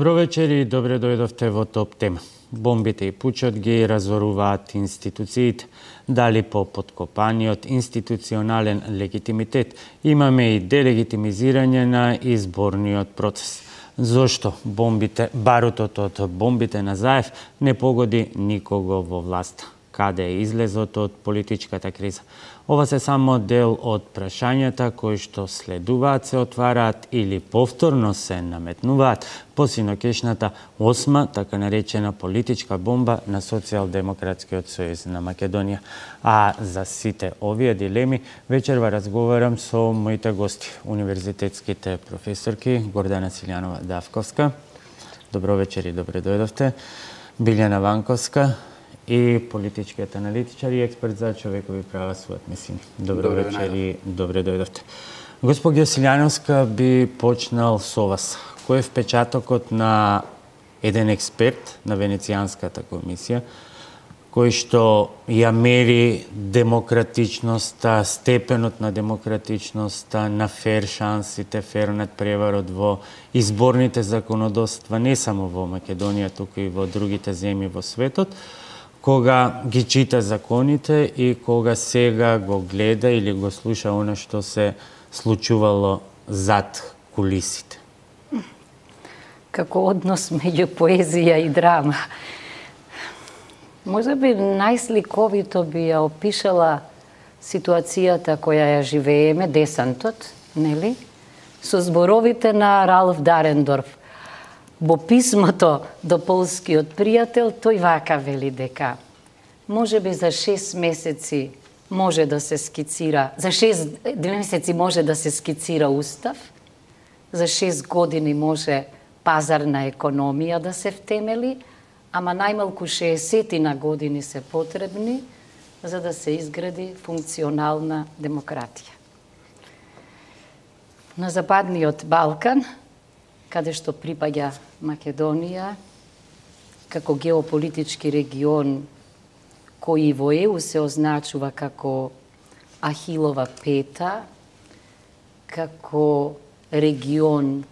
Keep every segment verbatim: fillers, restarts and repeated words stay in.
Добро вечер и добре дојдовте во Топ тема. Бомбите и пучот ги разоруваат институциите. Дали по подкопаниот институционален легитимитет имаме и делегитимизирање на изборниот процес. Зошто бомбите, барутот од бомбите на Заев не погоди никого во власта? Каде е излезот од политичката криза? Ова се само дел од прашањата кои што следуваат, се отвараат или повторно се наметнуваат по синокешната осма, така наречена политичка бомба на Социјалдемократскиот сојуз на Македонија. А за сите овие дилеми вечерва разговарам со моите гости, универзитетските професорки Гордана Силјанова Давковска. Добро вечер и добре дојдовте. Билјана Ванковска и политичкиот аналитичар и експерт за човекови права Суат Месини. Добро, добро вечер и добре дојдовте. Госпоѓа Силјановска, би почнал со вас. Кој е впечатокот на еден експерт на Венецијанската комисија, кој што ја мери демократичноста, степенот на демократичноста, на фер шансите, фер надпреварот во изборните законодавства, не само во Македонија, туку и во другите земји во светот, кога ги чита законите и кога сега го гледа или го слуша она што се случувало зад кулисите? Како однос меѓу поезија и драма. Може би најсликовито би ја опишала ситуацијата која ја живееме, десантот, нели? Со зборовите на Ралф Дарендорф. Во писмото до полскиот пријател, тој вака вели дека може би за шест месеци може да се скицира, за шест месеци може да се скицира устав, за шест години може пазарна економија да се втемели, ама најмалку шеесет години се потребни за да се изгради функционална демократија. На Западниот Балкан, каде што припаѓа Македонија, како геополитички регион кој во Е У се означува како Ахилова пета, како регион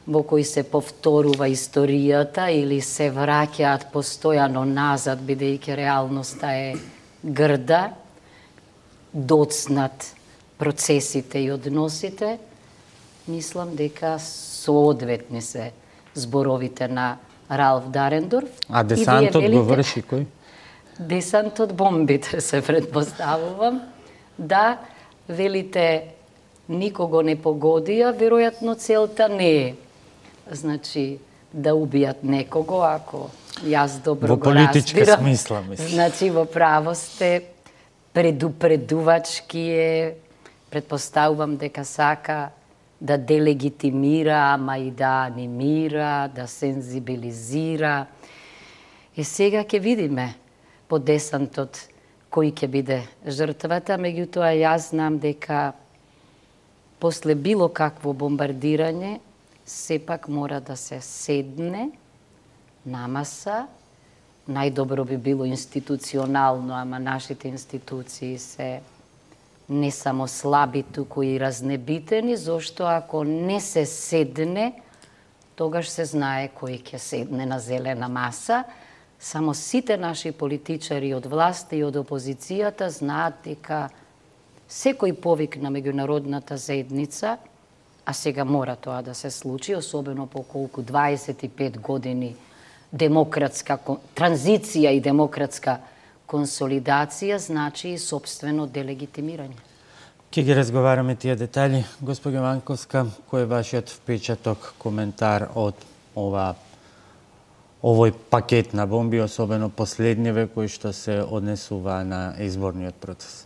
во кој се повторува историјата или се враќаат постојано назад, бидејќи реалноста е грда, доцнат процесите и односите, мислам дека соодветни се зборовите на Ралф Дарендорф. А десантот го врши кој? Десантот бомбите се предпоставувам. Да, велите никого не погодија, веројатно целта не е. Значи, да убијат некого, ако јас добро го разбирам. Во политичка смисла, мислам. Значи, во право сте, предупредувачки е, предпоставувам дека сака да делегитимира, ама и да анимира, да сензибилизира. И сега ќе видиме по десантот кој ќе биде жртвата, меѓутоа јас знам дека после било какво бомбардирање сепак мора да се седне на маса. Најдобро би било институционално, ама нашите институции се не само слаби, туку и разнебитени, зашто ако не се седне, тогаш се знае кој ќе седне на зелена маса. Само сите наши политичари од власта и од опозицијата знаат дека секој повик на меѓународната заедница, а сега мора тоа да се случи, особено по колку дваесет и пет години демократска транзиција и демократска консолидација, значи и собствено делегитимирање. Ке ги разговараме тие детали. Господја Ванковска, кој е вашиот впечаток, коментар од ова овој пакет на бомби, особено последниве кои што се однесува на изборниот процес?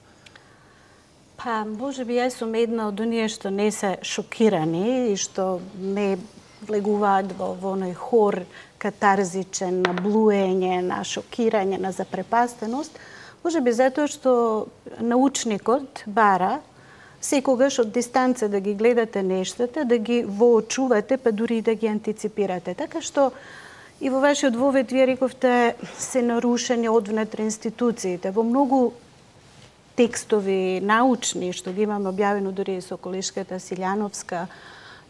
Па, може би јас сум една од оние што не се шокирани и што не влегуваат во оној хор катарзичен на блуење, на шокирање, на запрепастеност. Може би затоа што научникот бара секогаш од дистанца да ги гледате нештата, да ги воочувате, па дури и да ги антиципирате. Така што и во вашиот вовед вие рековте се нарушени одвнатре институциите. Во многу текстови научни, што ги имаме објавено дури со колешката Силјановска,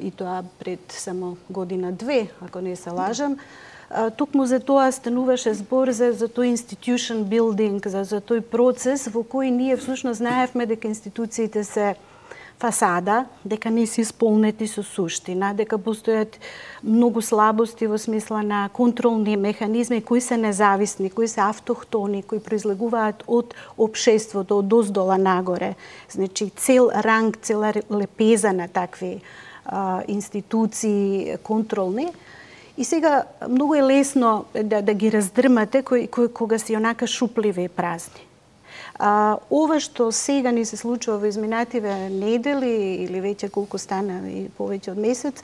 и тоа пред само година-две, ако не се лажам. Токму за тоа стануваше збор за, за тој institution building, за, за тој процес во кој ние всушност знаевме дека институциите се фасада, дека не се исполнети со суштина, дека постојат многу слабости во смисла на контролни механизми кои се независни, кои се автохтони, кои произлегуваат од општеството, од доздола нагоре. Значи цел ранг, цела лепеза на такви а, институции контролни. И сега многу е лесно да, да ги раздрмате кои, кои, кога се онака шупливи и празни. А, ова што сега ни се случува во изминативе недели или веќе колку стана и повеќе од месец,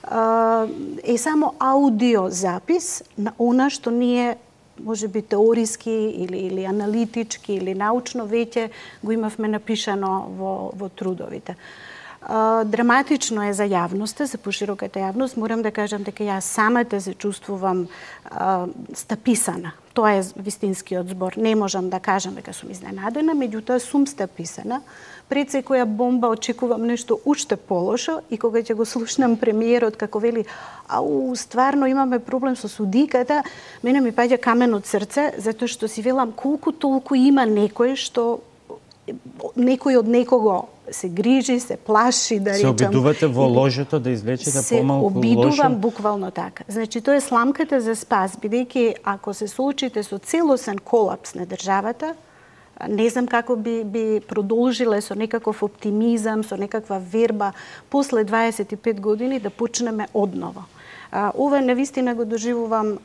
а, е само аудио запис на она што ние можеби теориски или, или аналитички или научно веќе го имавме напишано во, во трудовите. Uh, драматично е за јавноста, за пошироката јавност. Морам да кажам дека ја самата се чувствувам uh, стаписана. Тоа е вистинскиот збор. Не можам да кажам дека сум изненадена, меѓутоа сум стаписана. Пред секоја бомба очекувам нешто уште полошо и кога ќе го слушнам премиерот како вели ау, стварно имаме проблем со судиката, мене ми паѓа камен од срце, затоа што си велам колку толку има некој што некој од некого се грижи, се плаши, да речам. Се обидувате во ложето да извлечете помалку лошо? Се обидувам буквално така. Значи, тоа е сламката за спас, бидејќи ако се соочите со целосен колапс на државата, не знам како би, би продолжиле со некаков оптимизам, со некаква верба, после дваесет и пет години да почнеме одново. А, ова навистина го доживувам,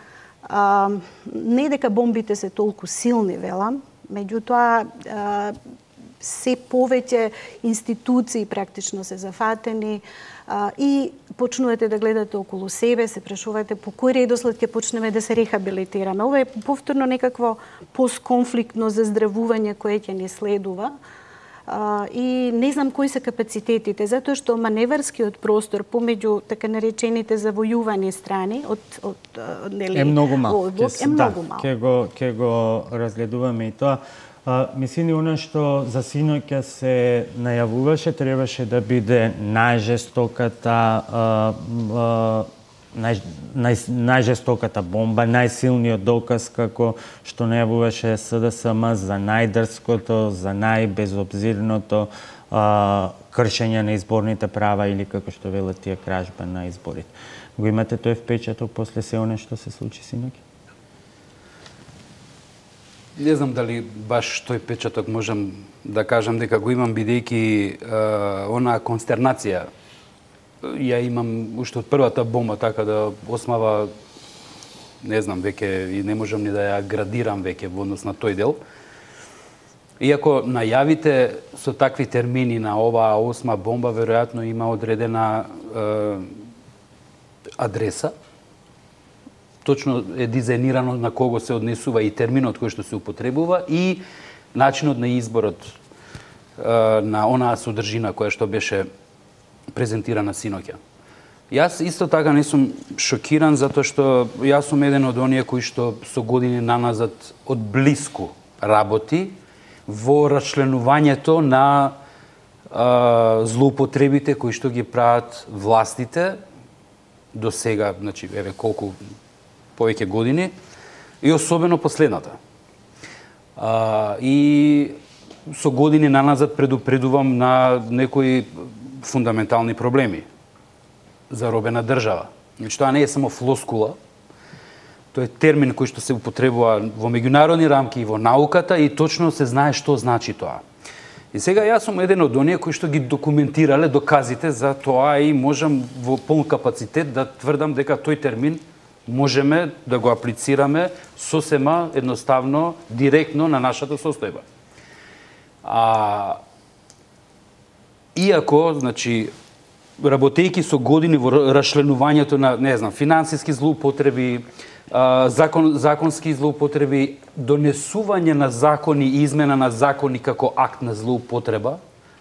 а, не дека бомбите се толку силни, велам, меѓутоа а, се повеќе институции практично се зафатени а, и почнувате да гледате околу себе, се прашувате по кој редослед ќе почнеме да се рехабилитираме. Ова е повторно некакво постконфликтно заздравување кое ќе ни следува. А, и не знам кои се капацитетите, затоа што маневарскиот простор помеѓу така наречените завојувани страни од, од нели, е многу мал. Е многу мал. Ќе го ќе го разгледуваме и тоа. А, мислини, она што за синоќа се најавуваше, требаше да биде најжестоката а, а, нај, нај, најжестоката бомба, најсилниот доказ како што најавуваше С Д С М за најдрското, за најбезобзирното а, кршење на изборните права или како што велат тие кражба на изборите. Го имате тој впечаток после се она што се случи синоќа? Не знам дали баш тој печаток можам да кажам дека го имам, бидејќи онаа констернација ја имам уште од првата бомба, така да осмава, не знам, веќе и не можам ни да ја градирам веќе во однос на тој дел. Иако најавите со такви термини на оваа осма бомба, веројатно има одредена е, адреса, точно е дизајнирано на кого се однесува и терминот кој што се употребува и начинот на изборот е, на онаа содржина која што беше презентирана синоќа. Јас исто така не сум шокиран затоа што јас сум еден од оние кои што со години наназад од блиску работи во расчленувањето на е, злоупотребите кои што ги прават властите до сега, значи еве колку повеќе години, и особено последната. А, и со години наназад предупредувам на некои фундаментални проблеми за робена држава. Значи, тоа не е само флоскула, тоа е термин кој што се употребува во меѓународни рамки и во науката и точно се знае што значи тоа. И сега јас сум еден од оние кои што ги документирале доказите за тоа и можам во полн капацитет да тврдам дека тој термин можеме да го аплицираме сосема едноставно, директно на нашата состојба. А, иако, значи, работејќи со години во расчленувањето на, не знам, финансиски злоупотреби, закон, законски злоупотреби, донесување на закони и измена на закони како акт на злоупотреба,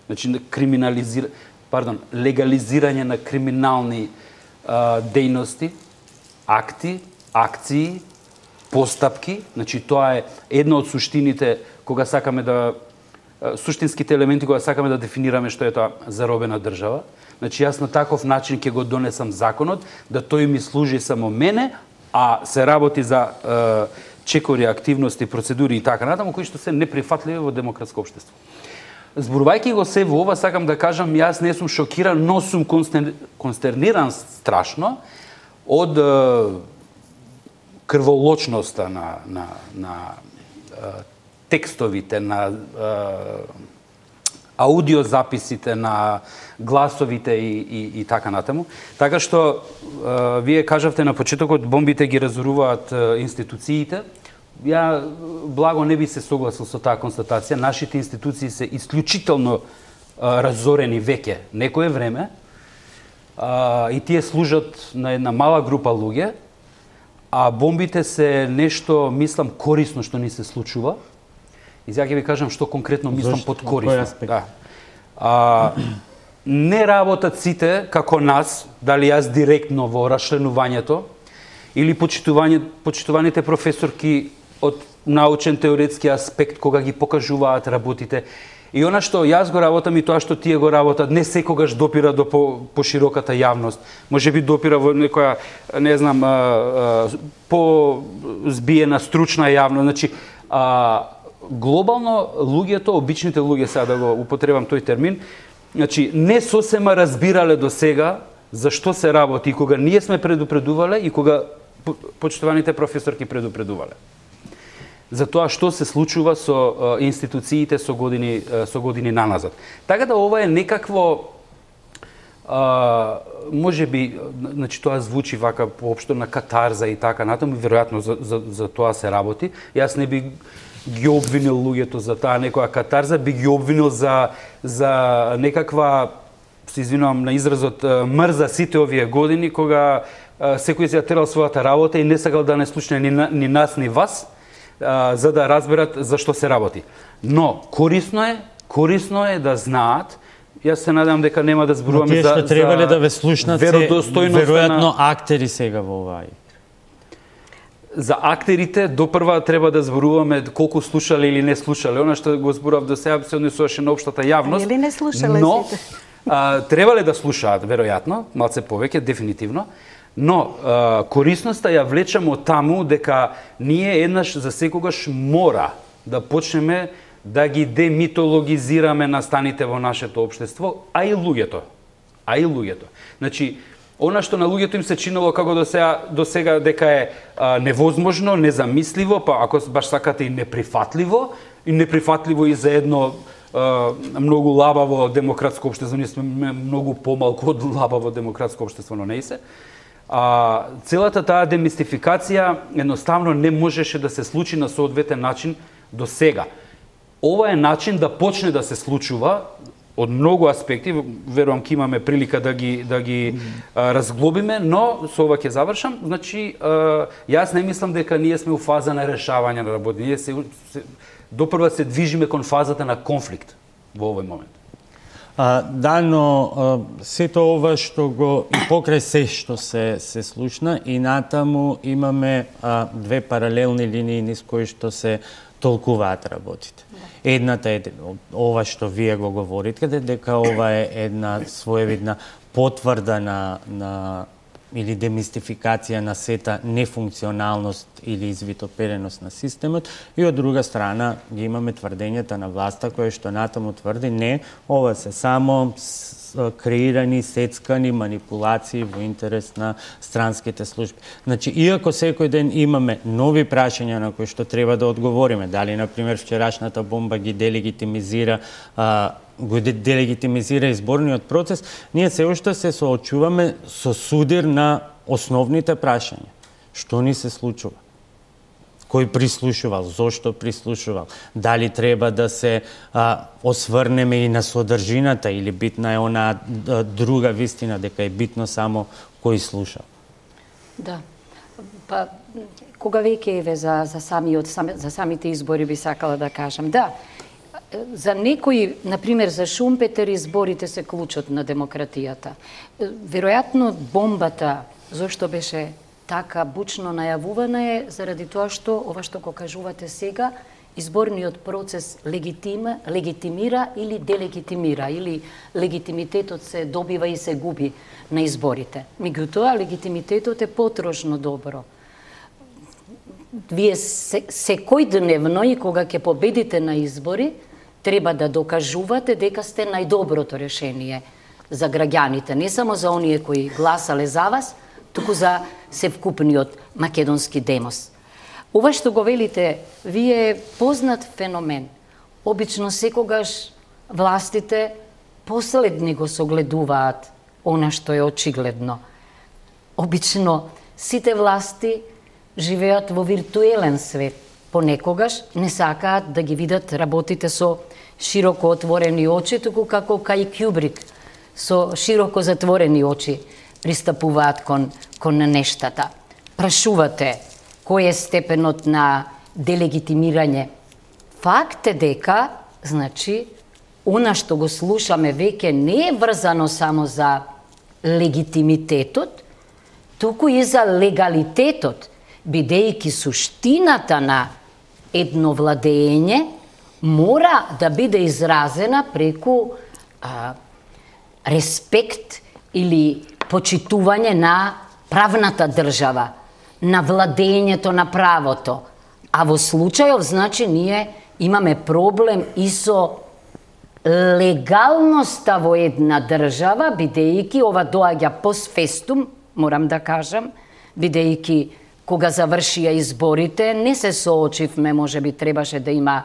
значи криминализира, пардон, легализирање на криминални а, дејности, акти, акции, постапки, значи тоа е една од суштините кога сакаме да суштинските елементи кога сакаме да дефинираме што е тоа заробена држава. Значи јас на таков начин ќе го донесам законот, да тој ми служи само мене, а се работи за е, чекори, активности, процедури и така натаму, кои што се неприфатливи во демократско општество. Зборувајќи го се во ова, сакам да кажам, јас не сум шокиран, но сум констерниран страшно од е, крволочноста на, на, на е, текстовите, на е, аудиозаписите, на гласовите и, и, и така натаму. Така што е, вие кажавте на почетокот, бомбите ги разоруваат е, институциите. Ја благо не би се согласил со таа констатација. Нашите институции се исклучително е, разорени веќе некое време е, и тие служат на една мала група луѓе, а бомбите се нешто, мислам, корисно што ни се случува. И сега ќе ви кажам што конкретно мислам под корисно. Да. А, не работат сите како нас, дали јас директно во расчленувањето, или почитуваните професорки од научен теоретски аспект кога ги покажуваат работите. И она што јас го работам и тоа што тие го работат, не секогаш допира до по, по широката јавност. Може би допира во некоја, не знам, а, а, по збиена стручна јавност. Значи, а, глобално луѓето, обичните луѓе, сега да го употребам тој термин, значи не сосема разбирале до сега за што се работи, и кога ние сме предупредувале и кога почитуваните професорки предупредувале за тоа што се случува со е, институциите со години е, со години наназад. Така да ова е некакво а, може би, значи тоа звучи вака поопшто на катарза и така натаму, веројатно за, за, за тоа се работи. Јас не би ги обвинил луѓето за таа некоја катарза, би ги обвинил за за некаква, се извинувам на изразот, мрза сите овие години кога секој си ја терал својата работа и не сакал да не слушне ни, ни нас ни вас, за да разберат за што се работи. Но корисно е, корисно е да знаат. Јас се надевам дека нема да зборуваме за, за требале да ве слушнат се веројатно на актери сега во оваа. За актерите допрва треба да зборуваме колку слушале или не слушале. Она што го зборував до сега се однесуваше на општата јавност. Или не слушале но, сите. А, требале да слушаат, веројатно, малце повеќе, дефинитивно. Но а, корисноста ја влечам од таму дека ние еднаш за секогаш мора да почнеме да ги демитологизираме настаните во нашето општество, а и луѓето. А и луѓето. Значи, она што на луѓето им се чинело како до сега, до сега дека е а, невозможно, незамисливо, па ако баш сакате и неприфатливо, и неприфатливо и за едно а, многу лабаво демократско општество, ние сме многу помалку од лабаво демократско општество, но не и се. А, целата таа демистификација едноставно не можеше да се случи на соодветен начин до сега. Ова е начин да почне да се случува од многу аспекти, верувам ќе имаме прилика да ги да ги а, разглобиме, но со ова ќе завршам. Значи, а, јас не мислам дека ние сме у фаза на решавање на работи. Ние се, се допрва се движиме кон фазата на конфликт во овој момент. А, да, но а, сето ова што го и покрај се што се се слушна и натаму имаме а, две паралелни линии низ кои што се толкуваат работите. Да. Едната е ова што вие го говорите, дека ова е една своевидна потврда на на или демистификација на сета нефункционалност или извитопереност на системот, и од друга страна ги имаме тврдењата на власта која што натаму тврди не, ова се само креирани, сецкани манипулации во интерес на странските служби. Значи, иако секој ден имаме нови прашања на кои што треба да одговориме, дали, например, вчерашната бомба ги делегитимизира а, го делегитимизира изборниот процес, ние се уште се соочуваме со судир на основните прашања. Што ни се случува? Кој прислушувал? Зошто прислушувал? Дали треба да се а, осврнеме и на содржината или битна е она а, друга вистина, дека е битно само кој слуша? Да. Па, кога веќе еве за, за, самиот, сами, за самите избори би сакала да кажам. Да, за некои, например, за Шумпетер изборите се клучот на демократијата. Веројатно бомбата, зошто беше така бучно најавувана е заради тоа што ова што го кажувате сега изборниот процес легитима, легитимира или делегитимира, или легитимитетот се добива и се губи на изборите. Меѓутоа, легитимитетот е потрошно добро. Вие се, секојдневно и кога ќе победите на избори, треба да докажувате дека сте најдоброто решение за граѓаните, не само за оние кои гласале за вас, туку за севкупниот македонски демос. Ова што го велите, вие е познат феномен. Обично секогаш властите последни го согледуваат она што е очигледно. Обично сите власти живеат во виртуелен свет. Понекогаш не сакаат да ги видат работите со широко отворени очи, туку како кај Кјубрик, со широко затворени очи пристапуваат кон, кон нештата. Прашувате кој е степенот на делегитимирање. Факт е дека, значи, она што го слушаме веќе не е врзано само за легитимитетот, туку и за легалитетот, бидејќи суштината на едно владење мора да биде изразена преку а, респект или почитување на правната држава, на владењето на правото. А во случајов, значи, ние имаме проблем и со легалноста во една држава, бидејќи ова доаѓа постфестум, морам да кажам, бидејќи кога завршија изборите, не се соочивме, може би требаше да има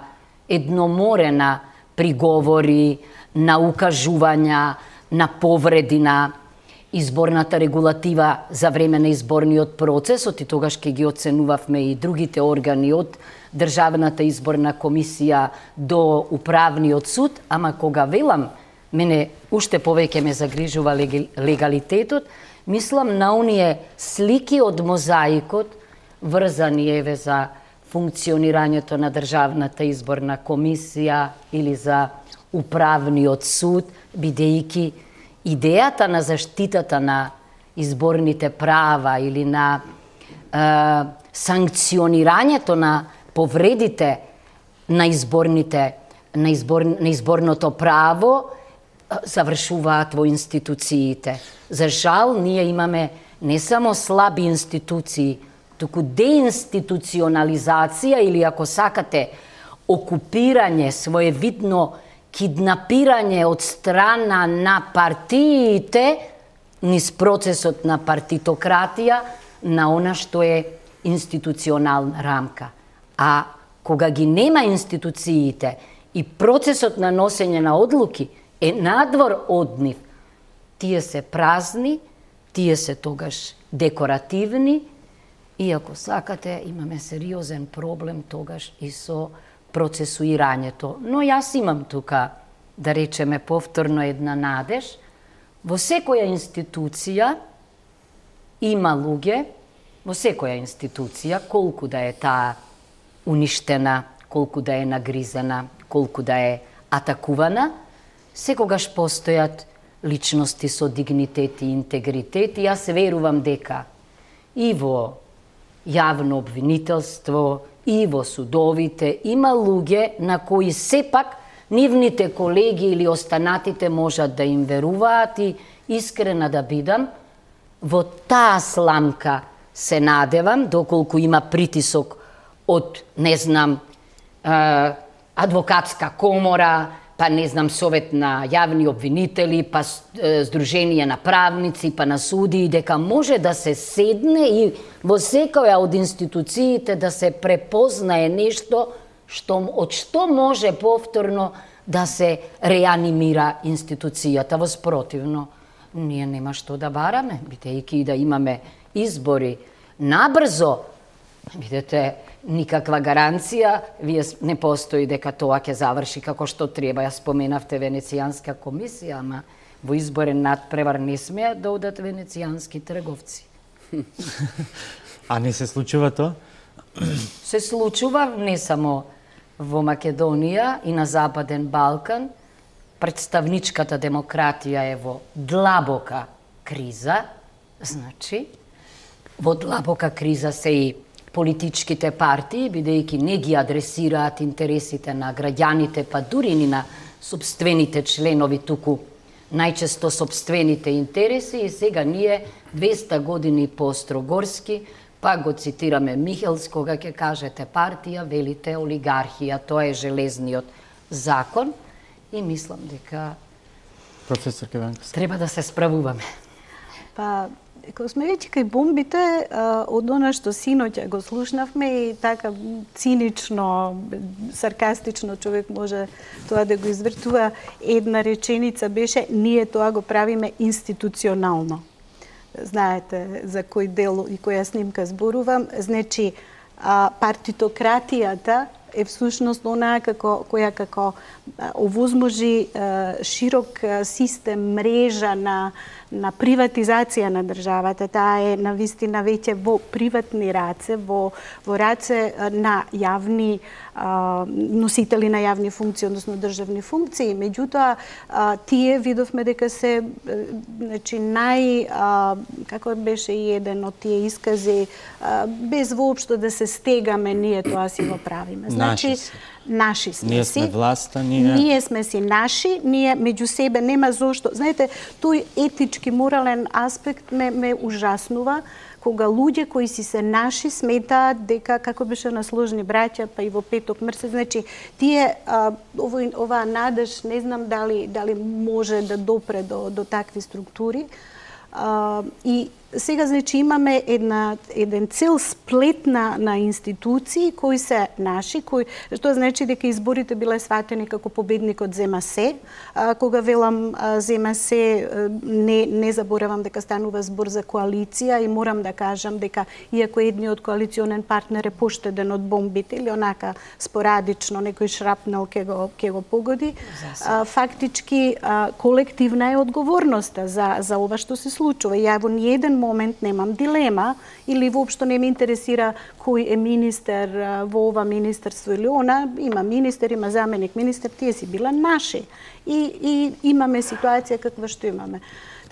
едно море на приговори, на укажувања, на повреди на изборната регулатива за време на изборниот процес, и тогаш ќе ги оценувавме и другите органи од Државната изборна комисија до Управниот суд, ама кога велам, мене уште повеќе ме загрижува легалитетот, мислам на оние слики од мозаикот, врзани еве за функционирањето на Државната изборна комисија или за Управниот суд, бидејќи идејата на заштитата на изборните права или на е, санкционирањето на повредите на изборните на, избор, на изборното право завршуваат во институциите. За жал, ние имаме не само слаби институции, туку деинституционализација или, ако сакате, окупирање, своевидно киднапирање од страна на партиите низ процесот на партитократија на она што е институционална рамка. А кога ги нема институциите и процесот на носење на одлуки е надвор од нив, тие се празни, тие се тогаш декоративни и, ако сакате, имаме сериозен проблем тогаш и со процесуирањето. Но јас имам тука, да речеме повторно, една надеж. Во секоја институција има луѓе, во секоја институција, колку да е таа уништена, колку да е нагризена, колку да е атакувана, секогаш постојат личности со дигнитет и интегритет, и јас верувам дека и во јавно обвинителство, и во судовите има луѓе на кои сепак нивните колеги или останатите можат да им веруваат, и искрена да бидам, во таа сламка се надевам, доколку има притисок од, не знам, адвокатска комора, па не знам, совет на јавни обвинители, па здружение на правници, па на суди, дека може да се седне и во секоја од институциите да се препознае нешто што, од што може повторно да се реанимира институцијата. Воспротивно, ние нема што да бараме, бидејќи да имаме избори набрзо, видете, никаква гаранција, вие не постои дека тоа ќе заврши како што треба. Ја споменавте Венецијанска комисија, ама во изборен надпревар не смеат да одат венецијански трговци. А не се случува тоа? Се случува не само во Македонија и на Западен Балкан. Представничката демократија е во длабока криза, значи, во длабока криза се и политичките партии, бидејќи не ги адресираат интересите на граѓаните, па дури ни на собствените членови, туку најчесто собствените интереси, и сега ние двеста години по Строгорски, па го цитираме Михелс, кога ќе кажете партија, велите олигархија, тоа е железниот закон, и мислам дека професор Кеванкас, треба да се справуваме. Па, кога сме веќе кај бомбите, од она што синоќа го слушнавме и така цинично, саркастично човек може тоа да го извртува, една реченица беше: ние тоа го правиме институционално. Знаете за кој дел и која снимка зборувам. Значи, партитократијата е всушност онаа како, која како овозможи широк систем, мрежа на, на приватизација на државата. Таа е навистина веќе во приватни раце, во, во раце на јавни а, носители на јавни функции, односно државни функции. Меѓутоа, а, тие видовме дека се значи, нај, а, како беше и еден од тие искази, а, без воопшто да се стегаме, ние тоа си го правиме. Значи, наши, наши сме ние си. Ние сме власта, ние... Ние сме си наши, ние меѓу себе нема зошто. Знаете, тој етички, морален аспект ме, ме ужаснува, кога луѓе кои си се наши сметаат дека, како беше на Сложни браќа, па и во Петок месец, значи, тие, а, ово, оваа надеж, не знам дали, дали може да допре до, до такви структури. А, и сега, значи, имаме една, еден цел сплет на, на институции кои се наши, кои, што значи дека изборите биле сватени како победникот зема се. А, кога велам а, зема се, не, не заборавам дека станува збор за коалиција и морам да кажам дека иако едниот коалиционен партнер е поштеден од бомбите или онака спорадично некој шрапнел ке го, ке го погоди, а, фактички а, колективна е одговорноста за, за ова што се случува. Ја во ниеден момент немам дилема или воопшто не ме интересира кој е министер во ова министерство или она. Има министер, има заменик министер, тие си била наши. И, и имаме ситуација каква што имаме.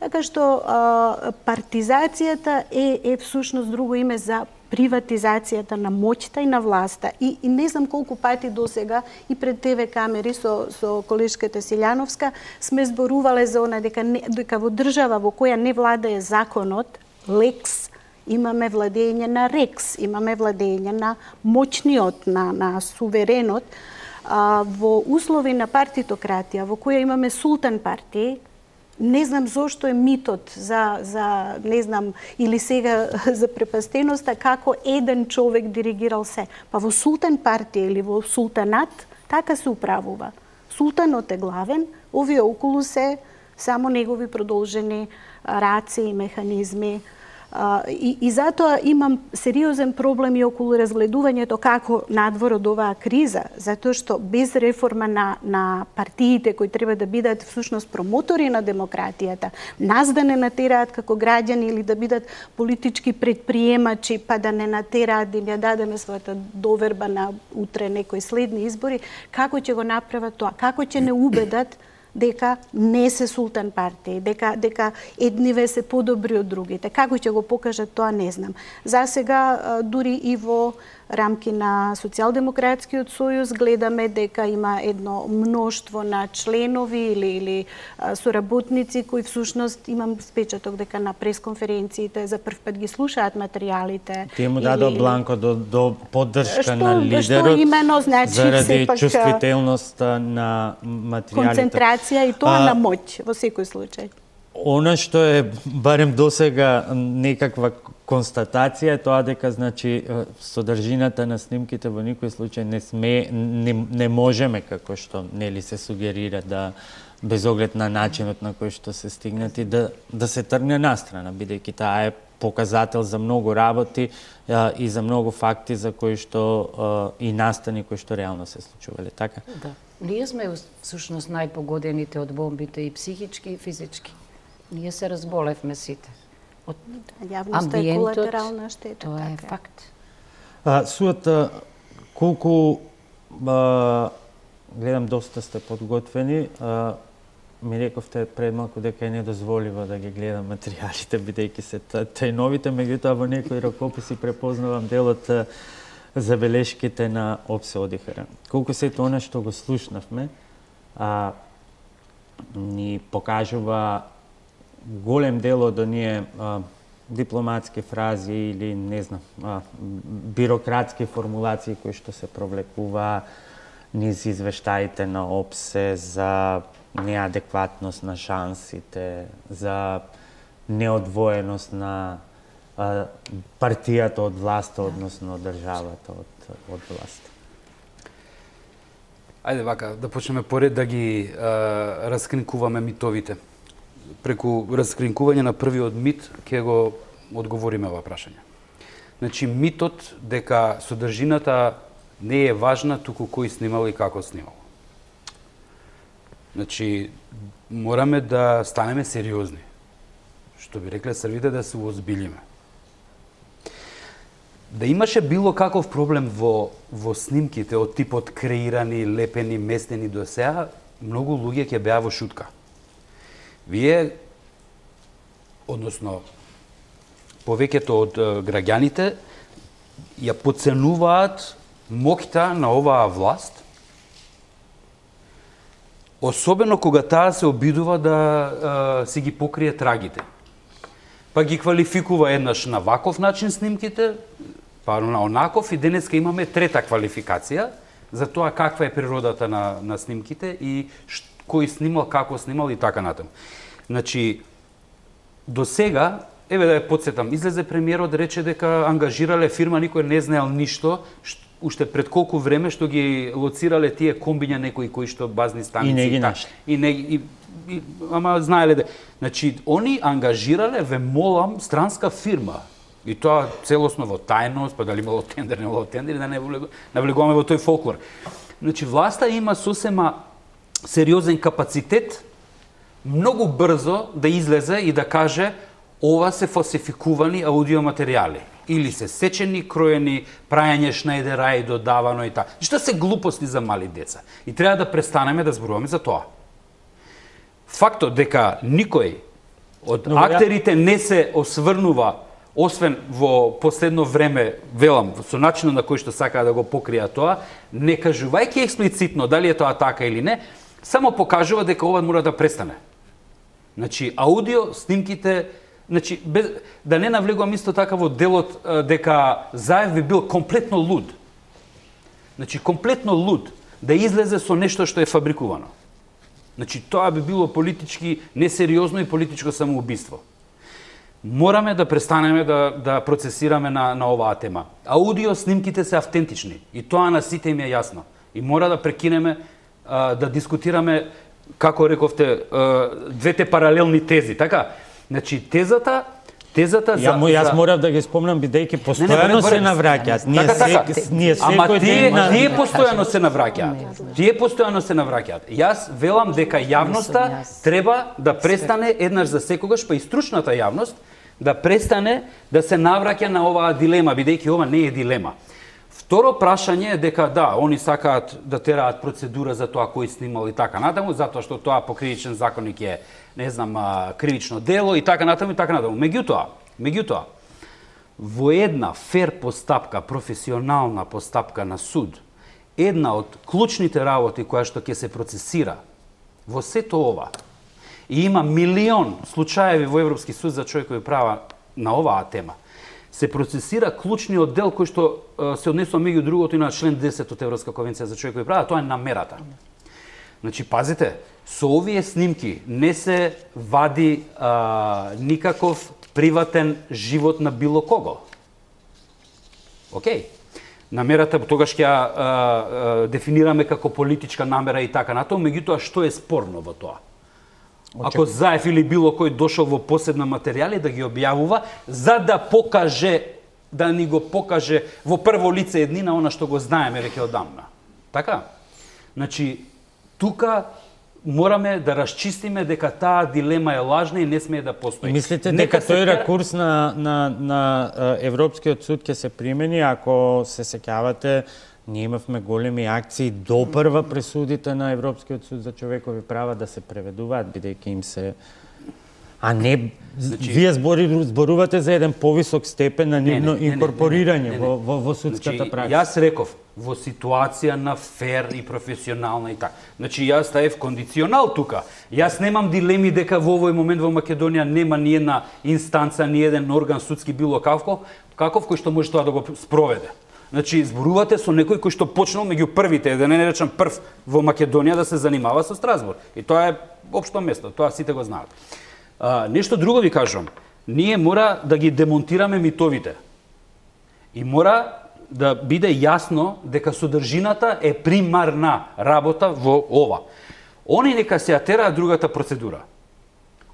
Така што а, партизацијата е, е всушност друго име за приватизацијата на моќта и на власта. И, и не знам колку пати до сега и пред Те Ве камери со, со колешката Силјановска сме зборувале за она дека, не, дека во држава во која не владае законот, лекс, имаме владење на рекс, имаме владење на моćниот, на, на суверенот. А, во услови на партитократија, во која имаме султан партии, не знам зошто е митот за, за не знам, или сега за препастеноста, како еден човек диригирал се. Па во султан партија или во султанат, така се управува. Султанот е главен, овие околу се само негови продолжени раци и механизми. Uh, и, и затоа имам сериозен проблем и околу разгледувањето како надвор од оваа криза, затоа што без реформа на, на партиите кои треба да бидат всушност промотори на демократијата, нас да не натераат како граѓани или да бидат политички предприемачи, па да не натераат да им ја дадеме својата доверба на утре некои следни избори, како ќе го направат тоа? Како ќе не убедат дека не се султан партии, дека, дека едниве се подобри од другите. Како ќе го покажат тоа, не знам. За сега, дури и во рамки на Социјалдемократскиот сојуз гледаме дека има едно мноштво на членови или, или соработници кои всушност имам впечаток дека на пресконференциите за прв пат ги слушаат материјалите. Тие му дадо или... бланко до, до поддршка што, на лидерот, што имено, значи, заради сепак, чувствителноста на материјалите. Концентрација и тоа а... на моќ во секој случај. Она што е барем досега некаква констатација е тоа дека значи содржината на снимките во никој случај не сме не, не можеме, како што нели се сугерира, да без оглед на начинот на кој што се стигнати да да се тргне настрана, бидејќи таа е показател за многу работи а, и за многу факти за кои што а, и настани кои што реално се случувале, така? Да. Ние сме всушност најпогодените од бомбите и психички и физички. Ние се разболевме сите. Од Јавноста е колатерална штета. Тоа е така. факт. А, Суата, колку а, гледам доста сте подготвени, а, ми рековте пред малку дека е недозволиво да ги гледам материјалите, бидејќи се тајновите, меѓутоа во некои ракописи препознавам делот забелешките на Опсе Одихара. Колку се тоа што го слушнавме, а, ни покажува голем дел од оние а, дипломатски фрази или не знам, а, бирократски формулации кои што се провлекува низ извештаите на Опсе за неадекватност на шансите, за неодвоеност на а, партијата од власта, односно државата од, од власта. Ајде вака, да почнеме поред да ги а, раскринкуваме митовите. Преку раскринкување на првиот мит ќе го одговориме ова прашање. Значи, митот дека содржината не е важна, туку кој снимал и како снимал. Значи, мораме да станеме сериозни. Што би рекле срвите, да се уозбилиме. Да имаше било каков проблем во, во снимките од типот креирани, лепени, местени до сега, многу луѓе ќе беа во шутка. Вие, односно, повеќето од граѓаните ја подценуваат моќта на оваа власт, особено кога таа се обидува да а, си ги покрие трагите. Па ги квалификува еднаш на ваков начин снимките, па на онаков, и денеска имаме трета квалификација за тоа каква е природата на, на снимките и ш, кој снимал, како снимал и така натаму. Значи, до сега, еве да ја подсетам, излезе премиерот, рече дека ангажирале фирма, никој не знаел ништо, уште пред колку време што ги лоцирале тие комбиња некои кои што базни станици и не ги нашли. И не и, и ама знаеле де. Значи, они ангажирале, ве молам, странска фирма. И тоа целосно во тајност, па дали имало тендер, не имало тендер, да не навлегуваме во тој фолклор. Значи, власта има сосема сериозен капацитет многу брзо да излезе и да каже ова се фалсификувани аудиоматеријали. Или се сечени, кроени, прајање шнајдера и додавано и така. Што се глупости за мали деца. И треба да престанеме да зборуваме за тоа. Фактот дека никој од Но, актерите не се осврнува, освен во последно време, велам, со начинот на кој што сакаа да го покрија тоа, не кажувајќи експлицитно дали е тоа така или не, само покажува дека ова мора да престане. Значи, аудио снимките, значи, без, да не навлегувам исто така во делот дека Заев би бил комплетно луд. Значи, комплетно луд да излезе со нешто што е фабрикувано. Значи, тоа би било политички несериозно и политичко самоубиство. Мораме да престанеме да, да процесираме на, на оваа тема. Аудио снимките се автентични и тоа на сите им е јасно. И мора да прекинеме а, да дискутираме, како рековте, двете паралелни тези, така? Значи, тезата, тезата за... Ја, јас за... морав да ги спомнам, бидејќи постојано се навраќаат. Ние, така, така. се, ние Ама секој тие, ден... На... тие постојано се навраќаат. Тие постојано се навраќаат. Јас велам дека јавноста треба да престане еднаш за секогаш, па и стручната јавност, да престане да се навраќа на оваа дилема, бидејќи ова не е дилема. Второ прашање е дека да, они сакаат да тераат процедура за тоа кој снимал и така натаму, затоа што тоа по кривичен законник е, не знам, кривично дело и така натаму и така натаму. Меѓутоа, меѓутоа, во една фер постапка, професионална постапка на суд, една од клучните работи која што ќе се процесира во сето ова, и има милион случаеви во Европски суд за човекови права на оваа тема, се процесира клучниот дел кој што се однесува меѓу другото и на член десет од Европска конвенција за човекови права, тоа е намерата. Значи, пазите, со овие снимки не се вади а, никаков приватен живот на било кого. Океј. Намерата тогаш ќе ја дефинираме како политичка намера и така натаму, меѓутоа што е спорно во тоа? Ако Заев или било кој дошол во посебна материјали да ги објавува, за да покаже, да ни го покаже во прво лице еднина она што го знаеме веќе одамна. Така? Значи, тука мораме да расчистиме дека таа дилема е лажна и не смее да постои. И мислите дека тој ракурс на, на, на Европскиот суд ќе се примени, ако се сеќавате Ние имавме големи акции до прва пресудите на Европскиот суд за човекови права да се преведуваат, бидејќи им се... А не, значи, вие збори, зборувате за еден повисок степен на нивно инкорпорирање во, во, во судската значи, пракса. Јас реков, во ситуација на фер и професионална и така. Значи, јас ставив кондиционал тука. Јас немам дилеми дека во овој момент во Македонија нема ни една инстанца, ни еден орган судски било каков, каков кој што може тоа да го спроведе. Значи, зборувате со некој кој што почнал меѓу првите, да не речам прв во Македонија да се занимава со Страсбург. И тоа е општо место, тоа сите го знаат. А, нешто друго ви кажам. Ние мора да ги демонтираме митовите. И мора да биде јасно дека содржината е примарна работа во ова. Они нека се атераат другата процедура.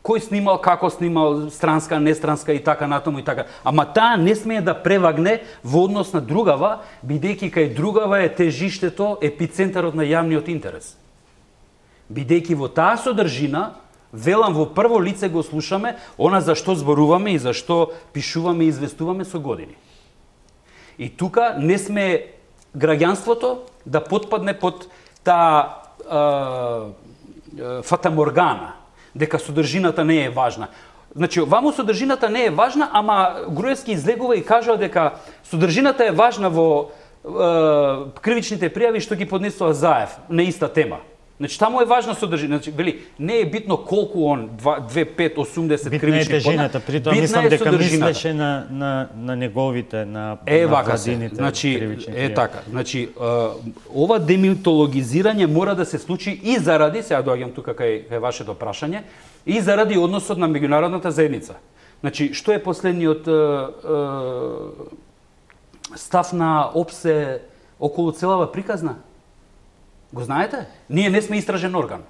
Кој снимал, како снимал, странска, нестранска и така натаму и така. Ама таа не смее да превагне во однос на другава, бидејќи кај другава е тежиштето, епицентарот на јавниот интерес. Бидејќи во таа содржина, велам во прво лице го слушаме, она за што зборуваме и за што пишуваме и известуваме со години. И тука не сме граѓанството да потпадне под таа фатаморгана, дека содржината не е важна. Значи, ваму содржината не е важна, ама Груевски излегува и кажува дека содржината е важна во е, кривичните пријави што ги поднесува Заев на иста тема. Значи, таму е важна содржина. Значи, вели, не е битно колку он две, пет, осумдесет кривични поднесува. Битна е тежината, при тоа мислам дека мислеше на, на, на неговите, на, е, на владините. Значи, е така. Значи, е, ова демитологизирање мора да се случи и заради, сега доаѓам тука кај, кај вашето прашање, и заради односот на меѓународната заедница. Значи, што е последниот е, е, став на ОПСЕ околу целава приказна? Го знаете? Ние не сме истражен орган.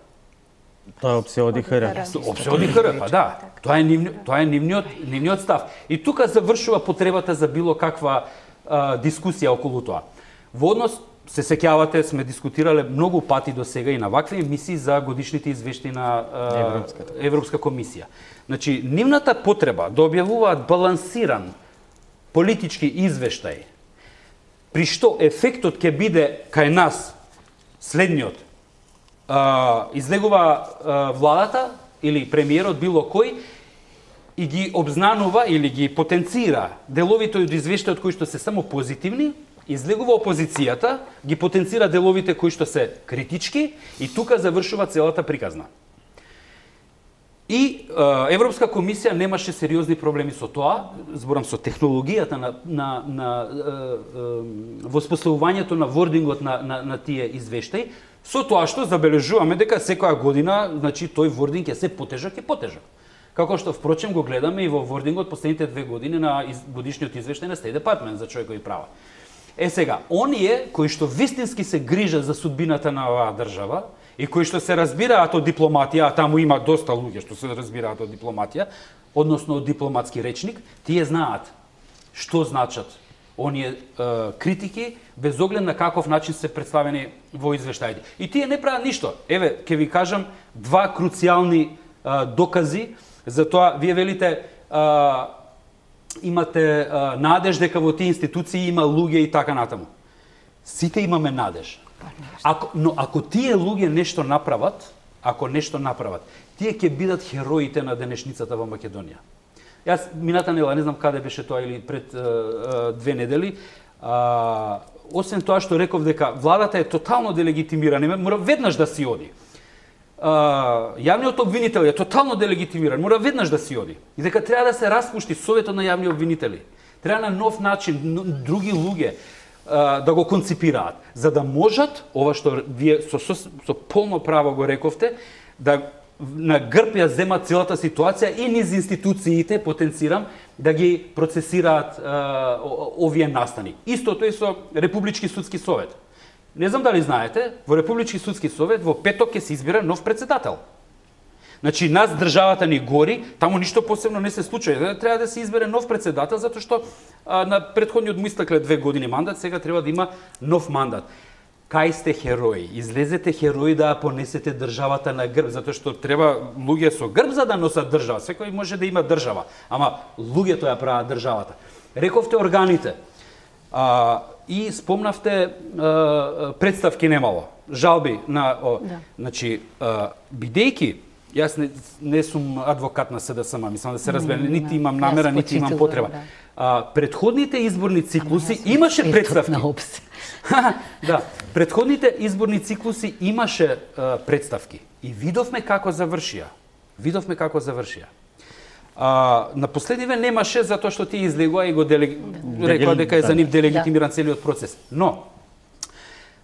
Тоа е ОПСЕ ОДИХР. ОПСЕ ОДИХР, па да. Тоа е нивни, тоа е нивниот нивниот став. И тука завршува потребата за било каква а, дискусија околу тоа. Во однос, се сеќавате, сме дискутирале многу пати до сега и на вакви емисии за годишните извештаи на а, Европска комисија. Значи, нивната потреба да објавуваат балансиран политички извештај, при што ефектот ќе биде кај нас следниот. А, излегува а, владата или премиерот било кој и ги обзнанува или ги потенцира деловите од извештајот кои што се само позитивни, излегува опозицијата, ги потенцира деловите кои што се критички и тука завршува целата приказна. И а, Европска комисија немаше сериозни проблеми со тоа, зборам со технологијата на, на, на а, а, воспоставувањето на вордингот на, на, на тие извештаи, со тоа што забележуваме дека секоја година, значи, тој вординг е се потежак и потежак. Како што впрочем го гледаме и во вордингот последните две години на из, годишниот извештај на State Department за човекови права. Е сега, оние кои што вистински се грижат за судбината на оваа држава, и кои што се разбираат од дипломатија, а таму има доста луѓе што се разбираат од дипломатија, односно од дипломатски речник, тие знаат што значат оние е, критики, без оглед на каков начин се представени во извештаите. И тие не прават ништо. Еве, ќе ви кажам два круцијални е, докази за тоа. Вие велите, е, имате е, надеж дека во тие институции има луѓе и така натаму. Сите имаме надеж. Ако, но ако тие луѓе нешто направат, ако нешто направат, тие ќе бидат хероите на денешницата во Македонија. Јас мината недела, не знам каде беше тоа или пред е, е, две недели, а, освен тоа што реков дека владата е тотално делегитимирана, мора веднаш да си оди. А, јавниот обвинител е тотално делегитимиран, мора веднаш да си оди. И дека треба да се распушти советот на јавни обвинители. Треба на нов начин, други луѓе да го конципираат, за да можат, ова што вие со, со, со полно право го рековте, да на грб ја земат целата ситуација и низ институциите, потенцирам, да ги процесираат а, овие настани. Истото е со Републички судски совет. Не знам дали знаете, во Републички судски совет во петок ќе се избира нов председател. Значи, нас државата ни гори, таму ништо посебно не се случува. Треба да се избере нов председател, затоа што а, на претходниот му истекле две години мандат, сега треба да има нов мандат. Кај сте херои? Излезете херои да понесете државата на грб, затоа што треба луѓе со грб за да носат држава. Секој може да има држава, ама луѓето ја прават државата. Рековте органите. А, и спомнавте е, представки немало, жалби на о, Да. значи е, бидејќи јас не, не сум адвокат на СДСМ, мислам да се разбере, Не, нити не, имам јас намера, нити имам почитувам, потреба. да. А, предходните изборни циклуси Јас сум имаше експертот представки. на опс. Да, предходните изборни циклуси имаше а, представки и видовме како завршија. Видовме како завршија. А, на последниве немаше затоа што тие излегува и го делег... рекла дека е за нив делегитимиран целиот процес. Но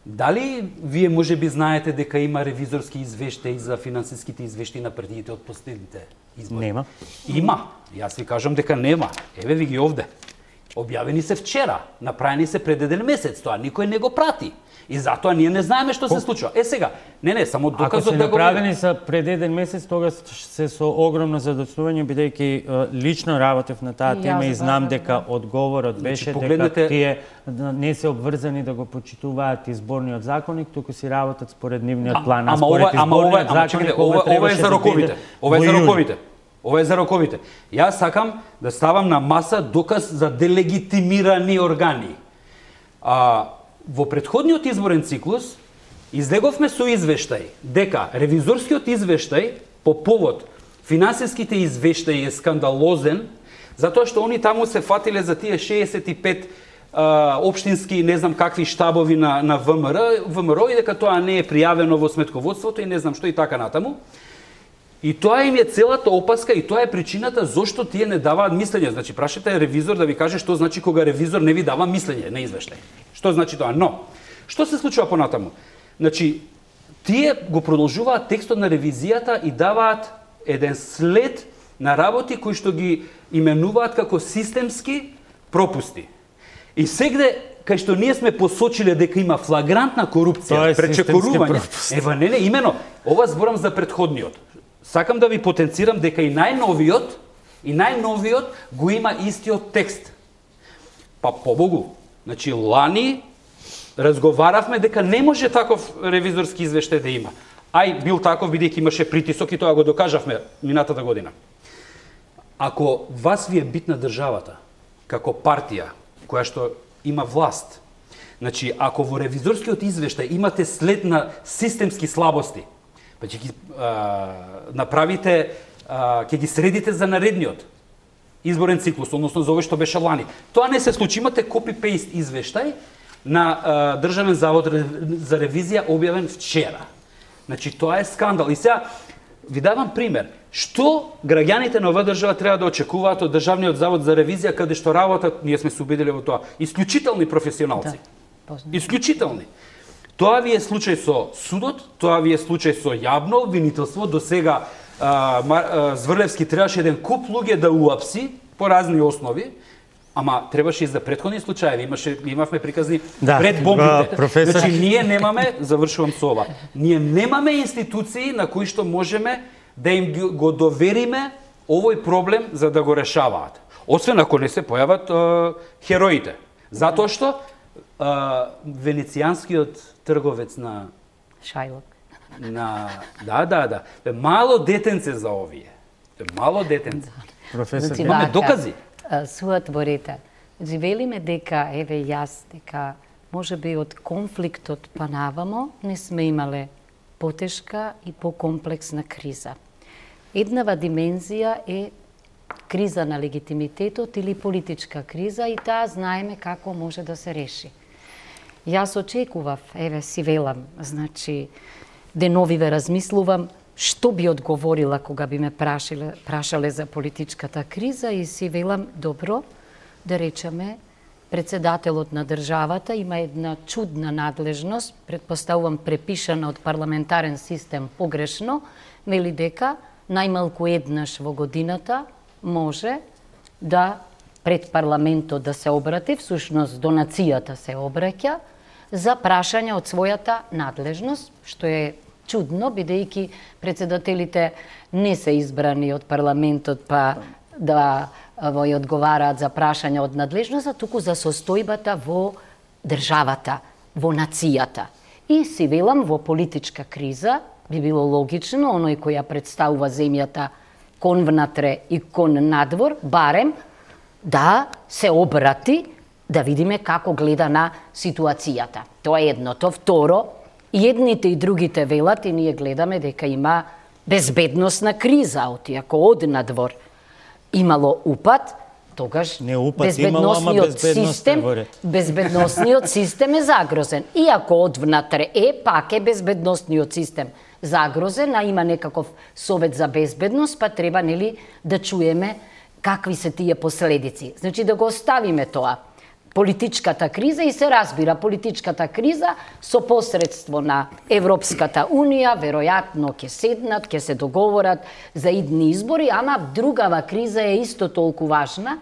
дали вие можеби знаете дека има ревизорски извештаи за финансиските извештаи на партиите од последните избори? Нема. Има. Јас ви кажам дека нема. Еве ви ги овде. Објавени се вчера, направени се пред еден месец, тоа никој не го прати. И затоа ние не знаеме што се случува. Е сега, не не, само Ако доказот се да го направени са пред еден месец, тогаш се со огромно задоцнување, бидејќи е, лично работев на таа И тема јас, и знам да, да, дека одговорот беше дека погледнете- тие не се обврзани да го почитуваат изборниот законник, туку си работат според нивниот план. Ама според ова, ама ова, изборниот ама чекайте, законник, ова, ова е требаше за да роковите. биде Ова е во за јуни. роковите. Ова е за роковите. Јас сакам да ставам на маса доказ за делегитимирани органи. А, во претходниот изборен циклус излеговме со извештај дека ревизорскиот извештај по повод финансиските извештаи е скандалозен, затоа што они таму се фатиле за тие шеесет и пет а, општински, не знам какви штабови на, на ВМРО, ВМРО и дека тоа не е пријавено во сметководството и не знам што и така натаму. И тоа им е целата опаска и тоа е причината зошто тие не даваат мислење. Значи, прашате ревизор да ви каже што значи кога ревизор не ви дава мислење на извештај. Што значи тоа? Но, што се случува понатаму? Значи, тие го продолжуваат текстот на ревизијата и даваат еден след на работи кои што ги именуваат како системски пропусти. И сегде кај што ние сме посочиле дека има флагрантна Тоа корупција, е системски пречекорување. пропуст. Ева не, не, имено, ова зборам за претходниот. Сакам да ви потенцирам дека и најновиот, и најновиот го има истиот текст. Па побогу, значи лани разговаравме дека не може таков ревизорски извештај да има. Ај бил таков бидејќи имаше притисок и тоа го докажавме минатата година. Ако вас ви е битна државата како партија која што има власт, значи ако во ревизорскиот извештај имате след на системски слабости, па ќе ги а, направите, а, ќе ги средите за наредниот изборен циклус, односно за овој што беше лани. Тоа не се случи, имате копи-пейст извештај на а, Државен завод за ревизија објавен вчера. Значи тоа е скандал. И сега ви давам пример. Што граѓаните на оваа држава треба да очекуваат од Државниот завод за ревизија каде што работат, ние сме се убедили во тоа, исклучителни професионалци. Да, познато. Исклучителни. Тоа ви е случај со судот, тоа ви е случај со јавно обвинителство. До сега а, а, Зврлевски требаше еден куп луѓе да уапси по разни основи, ама требаше и за претходни случаи. Имаше, имавме приказни Да, пред бомбите. професор. Значи, ние немаме, завршувам со ова, ние немаме институции на кои што можеме да им ги- го довериме овој проблем за да го решаваат. Освен ако не се појават е, хероите. Затоа што е, венецијанскиот трговец на Шајлок. на да, да, да, е мало детенце за овие. Е мало детенце. Професор, Значи, Имаме вака, докази. а, суотворите. Значи, велиме дека, еве јас, дека може би од конфликтот па навамо не сме имале потешка и покомплексна криза. Еднава димензија е криза на легитимитетот или политичка криза и таа знаеме како може да се реши. Јас очекував, еве си велам, значи, деновиве размислувам што би одговорила кога би ме прашале, прашале за политичката криза и си велам, добро, да речеме, председателот на државата има една чудна надлежност, предпоставувам препишана од парламентарен систем погрешно, вели дека најмалку еднаш во годината може да пред парламентот да се обрати, всушност до нацијата се обраќа, за прашање од својата надлежност, што е чудно, бидејќи председателите не се избрани од парламентот па да во и одговараат за прашања од надлежност, туку за состојбата во државата, во нацијата. И си велам, во политичка криза би било логично, оној кој ја представува земјата кон внатре и кон надвор, барем да се обрати да видиме како гледа на ситуацијата. Тоа е едното. Второ, и едните и другите велат и ние гледаме дека има безбедносна криза, оти ако од надвор имало упад, тогаш не упад имало, ама безбедност систем, безбедносниот систем е загрозен. И ако од внатре е, пак е безбедносниот систем загрозен, а има некаков совет за безбедност, па треба нели да чуеме какви се тие последици. Значи да го оставиме тоа. Политичката криза и се разбира политичката криза со посредство на Европската Унија, веројатно ќе седнат, ќе се договорат за идни избори, ама другава криза е исто толку важна,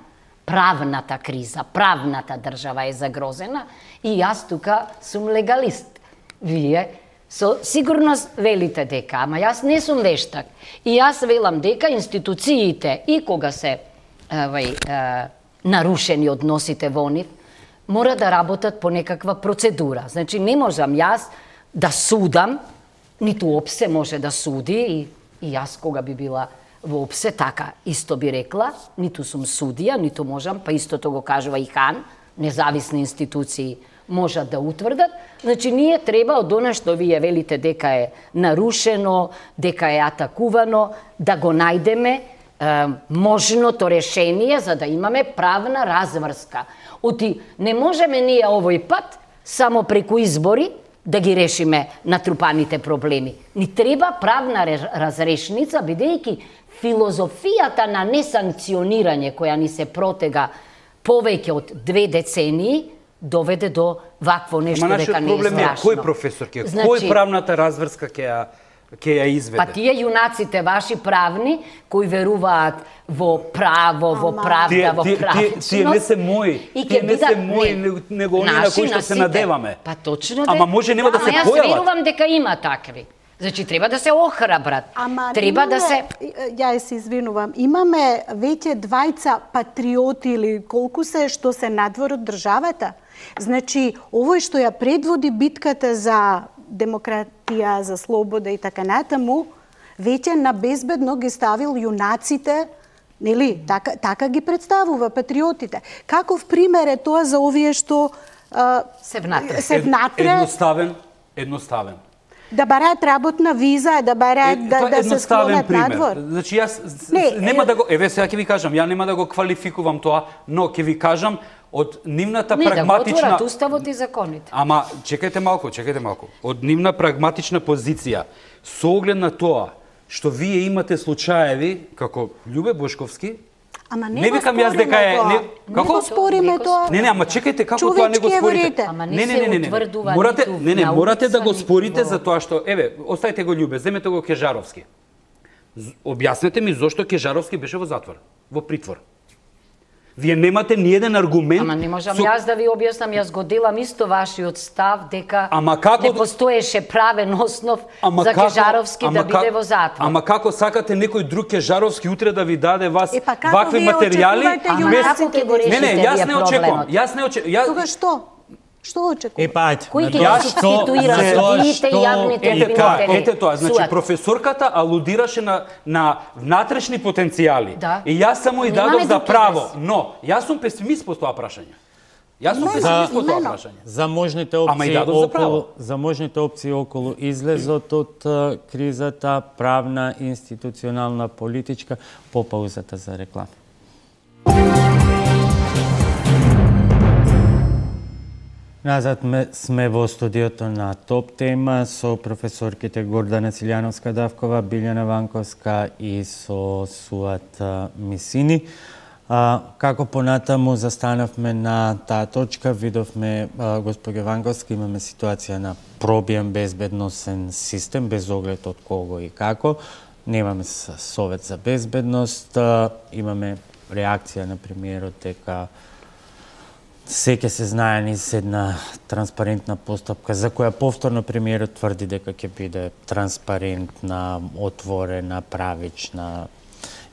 правната криза, правната држава е загрозена и јас тука сум легалист. Вие со сигурност велите дека, ама јас не сум вештак. И јас велам дека институциите и кога се евај, е, нарушени односите во нив, мора да работат по некаква процедура. Значи, не можам јас да судам, ниту ОПСЕ може да суди, и, и јас кога би била во ОПСЕ, така исто би рекла, ниту сум судија, ниту можам, па истото го кажува и хан, независни институции можат да утврдат. Значи, ние треба од она што вие велите дека е нарушено, дека е атакувано, да го најдеме е, можното решение за да имаме правна разврска. Оти, не можеме ние овој пат само преку избори да ги решиме натрупаните проблеми. Ни треба правна разрешница, бидејќи филозофијата на несанкционирање која ни се протега повеќе од две децении доведе до вакво нешто дека не е страшно. Проблем е кој професор ќе, значи, кој правната разврска ќе ја ќе ја изведе? Па тие јунаците ваши правни кои веруваат во право, во правда, во правичност. Тие не се мои, тие не се мои, него оние на кои што се надеваме. Па точно. Ама може нема да се појават. Ама јас верувам дека има такви. Значи треба да се охрабрат. Ама треба да се Ја се извинувам. Имаме веќе двајца патриоти или колку се што се надвор од државата. Значи овој што ја предводи битката за демократија, за слобода и така натаму, веќе на безбедно ги ставил јунаците, нели, така, така ги представува патриотите. Каков пример е тоа за овие што а, се внатре? Се внатре едноставен, едноставен. Да бараат работна виза, да бараат е, да, да се склонат надвор. Значи јас не, нема е... да го, еве сега ќе ви кажам, ја нема да го квалификувам тоа, но ќе ви кажам од нивната не, прагматична... Не, да го уставот и законите. Ама, чекајте малку, чекајте малку. Од нивна прагматична позиција, со оглед на тоа што вие имате случаеви, како Љубе Бошковски, ама не, не викам јас дека е... Не, како? Не го спориме тоа. Не, не, ама чекајте, како тоа не го спорите? Ама не, не, не, не, не, не. Морате, не, не, морате да го спорите за тоа што... Еве, оставите го Љубе, земете го Кежаровски. Објаснете ми зошто Кежаровски беше во затвор, во притвор. Вие немате ни еден аргумент. Ама не можам со... јас да ви објаснам, јас го делам исто вашиот став дека како... не постоеше правен основ ама за како... Кежаровски ама да биде как... во затвор. Ама како сакате некој друг Кежаровски утре да ви даде вас е, па вакви материјали? Ама без... како ќе го решите? Не, не, јас не очекувам. Јас не очекувам. Јас... Тога што? Што очекувате? Е, пајте. Кој ќе ја субституира судиите и јавните обвинители? Ете тоа, значи професорката алудираше на на внатрешни потенцијали. Да. И јас само и дадов за право, но јас сум песимист по тоа прашање. Јас сум песимист по тоа прашање. За можните опции околу за можните опции околу излезот од кризата, правна, институционална, политичка, по паузата за реклама. Назад сме во студиото на Топ тема со професорките Гордана Цилјановска-Давкова, Билјана Ванковска и со Суат Мисини. А, како понатаму застанавме на таа точка, видовме, а, госпоѓа Ванковска, имаме ситуација на пробиен безбедносен систем, без оглед од кого и како. Немаме совет за безбедност, а, имаме реакција на премиерот дека се ќе се знае низ една транспарентна постапка, за која повторно премиерот тврди дека ќе биде транспарентна, отворена, правична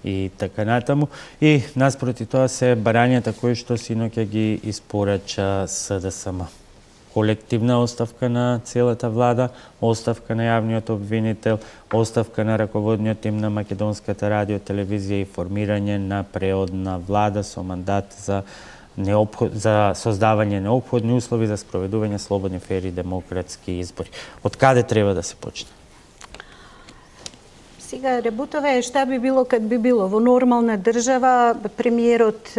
и така натаму. И наспроти тоа се барањата кои што синоќа ги испорача С Д С М. Колективна оставка на целата влада, оставка на јавниот обвинител, оставка на раководниот тим на Македонската радио, телевизија и формирање на преодна влада со мандат за неопход, за создавање неопходни услови за спроведување слободни, фери, демократски избори. Од каде треба да се почне? Сега, работава е шта би било кад би било. Во нормална држава, премиерот,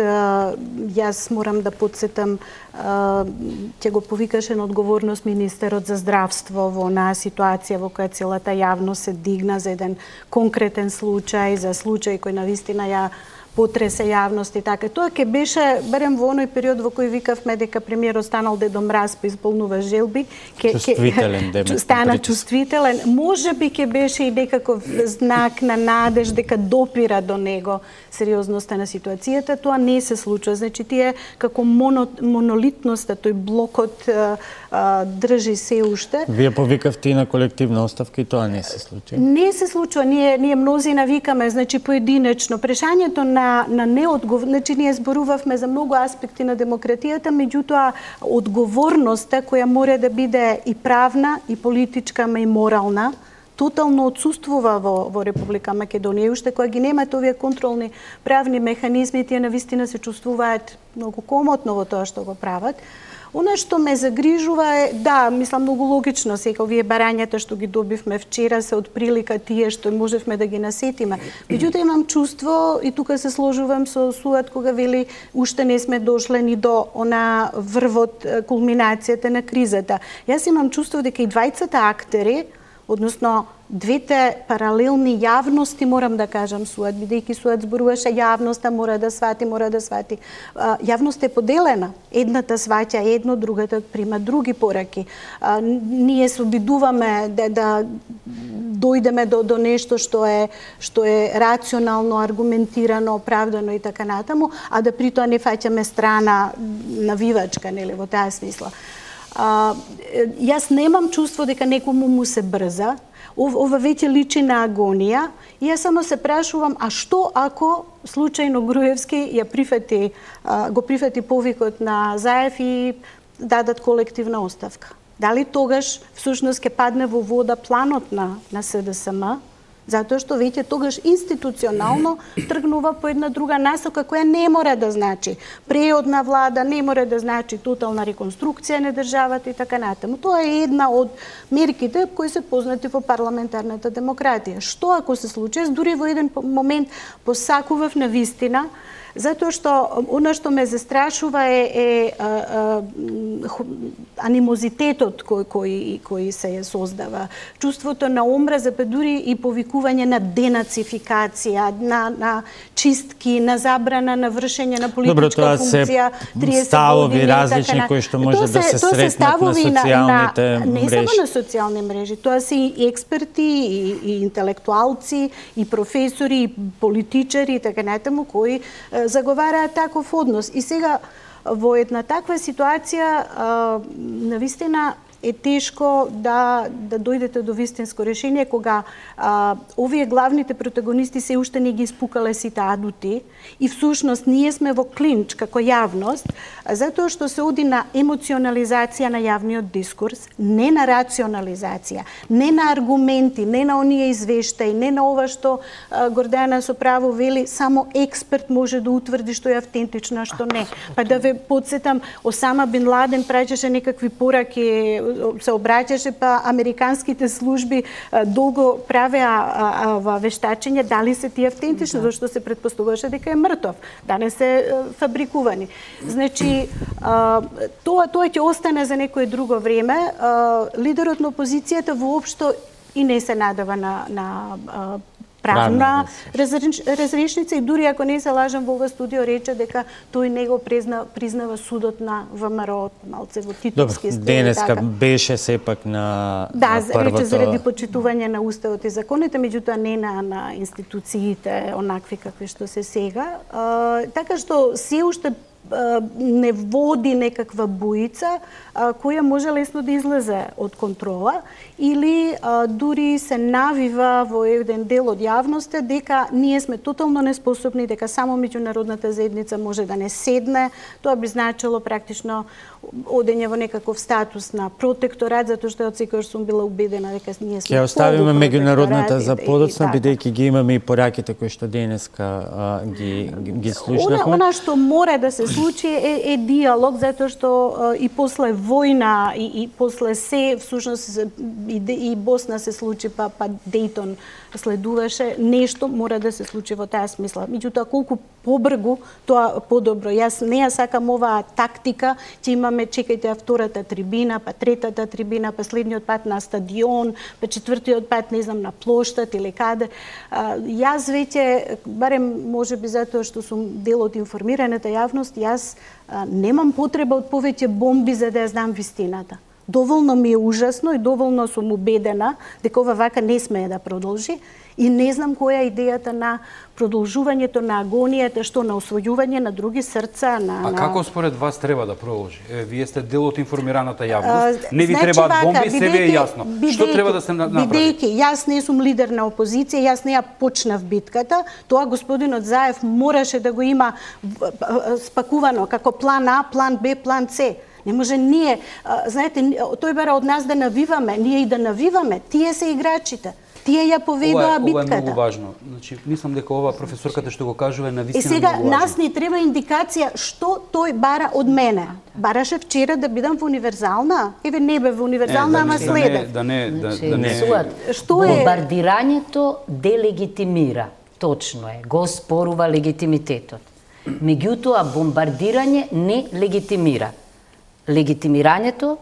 јас морам да подсетам, ќе го повикаше на одговорност министерот за здравство во онаа ситуација во која целата јавност се дигна за еден конкретен случај, за случај кој навистина ја потресе јавност и така. Тоа ќе беше, барем во оној период во кој викавме дека премиерот станал Дедо Мраз па исполнува желби, ке, чувствителен, ке, стана чувствителен. Може би ќе беше и некаков знак на надеж дека допира до него сериозноста на ситуацијата. Тоа не се случува. Значи, тие како моно, монолитноста, тој блокот а, а, држи се уште. Вие повикавте и на колективна оставка и тоа не се случува? Не се случува. Ние, ние мнозина викаме, значи, поединечно. Прешањето на на, на неодговор... Значи, ние зборувавме за многу аспекти на демократијата, меѓутоа, одговорноста која мора да биде и правна, и политичка, ма и морална, тотално отсуствува во, во Република Македонија. И уште кога ги немате овие контролни правни механизми, тие навистина се чувствуваат многу комотно во тоа што го прават. Она што ме загрижува е, да, мислам многу логично, сега овие барањата што ги добивме вчера се од прилика тие што можевме да ги насетиме. Меѓутоа имам чувство, и тука се сложувам со Суад кога вели уште не сме дошле ни до она врвот, кулминацијата на кризата. Јас имам чувство дека и двајцата актери, односно двете паралелни јавности, морам да кажам, Суад, бидејќи Суад зборуваше јавноста, мора да свати, мора да свати. Јавноста е поделена. Едната сваќа едно, другата прима други пораки. А, ние се обидуваме да, да дојдеме до, до нешто што е, што е рационално, аргументирано, оправдано и така натаму, а да при тоа не фаќаме страна навивачка, нели, во таа смисла. А, јас немам чувство дека некому му се брза. Ова веќе личи на агонија. И јас само се прашувам, а што ако случајно Груевски ја прифати, го прифати повикот на Заев и дадат колективна оставка? Дали тогаш всушност ќе падне во вода планот на, на СДСМ? Затоа што веќе тогаш институционално тргнува по една друга насока која не мора да значи преодна влада, не мора да значи тотална реконструкција на државата и така натаму. Тоа е една од мерките кои се познати во парламентарната демократија. Што ако се случи? Дури во еден момент посакував на вистина, затоа што она што ме застрашува е, е а, а, анимозитетот кој, кој, кој се создава, чувството на омраза, па дури и повикување на денацификација, на, на чистки, на забрана на вршење на политичка функција, триесет ставови години, различни така, кои што може да се сретнат на социјалните мрежи. Не само на социјални мрежи, тоа се и експерти, и, и интелектуалци, и професори, и политичари и така натаму кои заговараат таков однос. И сега во една таква ситуација навистина е тешко да, да дојдете до вистинско решение кога а, овие главните протагонисти се уште не ги испукале сите адути и всушност ние сме во клинч како јавност, затоа што се оди на емоционализација на јавниот дискурс, не на рационализација, не на аргументи, не на оние извештаи, не на ова што а, Гордана со право вели, само експерт може да утврди што е автентично, а што не. Па да ве подсетам, Осама бин Ладен праќаше некакви пораки, се обраќаше, па американските служби а, долго правеа вештачење дали се тие автентични, да. Зашто се претпоставуваше дека е мртов, да не се а, фабрикувани. Значи, а, тоа тоа ќе остане за некое друго време. А, лидерот на опозицијата воопшто и не се надава на, на а, правна разрешница и дури ако не се лажам во ова студио рече дека тој не го призна, признава судот на ВМРО малце во титулски стил. Денеска така. беше сепак на, да, на првото... рече заради почитување на уставот и законите, меѓутоа не на, на институциите онакви какви што се сега. А, така што се уште не води некаква буица а, која може лесно да излезе од контрола или а, дури се навива во еден дел од јавноста дека ние сме тотално неспособни, дека само меѓународната заедница може да не седне. Тоа би значило практично одење во некаков статус на протекторат, затоа што од секојаш сум била убедена дека ние сме ќе оставиме меѓународната за и- и подоцна, така. бидејќи ги имаме и пораките кои што денеска а, ги ги, ги слушнавме. Она, она што мора да се случи е, е диалог, затоа што а, и после војна и, и после се, всушност и, и Босна се случи, па, па Дејтон следуваше, нешто мора да се случи во таа смисла. Меѓутоа, колку побргу, тоа подобро. Јас не ја сакам оваа тактика, ќе имаме, чекајте, втората трибина, па третата трибина, па следниот пат на стадион, па четвртиот пат, не знам, на плоштад или каде. А, јас веќе, барем можеби затоа што сум дел од информираната јавност, јас а, немам потреба од повеќе бомби за да ја знам вистината. Доволно ми е ужасно и доволно сум убедена дека ова вака не смее да продолжи и не знам која е идејата на продолжувањето на агонијата, што на освојување на други срца, на... А на... како според вас треба да продолжи? Е, вие сте дел од информираната јавност, А, не ви значи требаат вака, бомби, се ви е бидејќи- јасно. Што бидејќи- треба да се на- направи? Бидејќи јас не сум лидер на опозиција, јас не ја почнав битката, тоа господинот Заев мораше да го има в- в- спакувано како план А, план Б, план С. Не може ние, а, знаете, тој бара од нас да навиваме, ние и да навиваме, тие се играчите. Тие ја Ова, поведоа е- ова е битката. многу важно. Значи, мислам дека ова професорката што го кажува е И навистина сега многу нас важно. ни треба индикација што тој бара од мене. Бараше вчера да бидам во универзална? Еве не бе во универзална, Е, ама да не- следе. Да не, да, Значи, да не. Суат, Што е- бомбардирањето делегитимира. Точно е, го спорува легитимитетот. Меѓутоа, бомбардирање не легитимира. Легитимирањето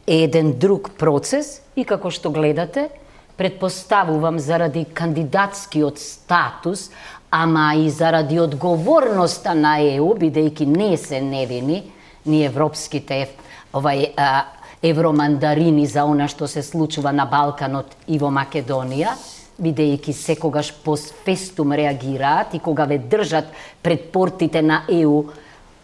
е еден друг процес и како што гледате, предпоставувам заради кандидатскиот статус, ама и заради одговорноста на Е У, бидејќи не се невини, ни европските ев- овај а, евромандарини за она што се случува на Балканот и во Македонија, бидејќи секогаш постфестум реагираат и кога ве држат пред портите на Е У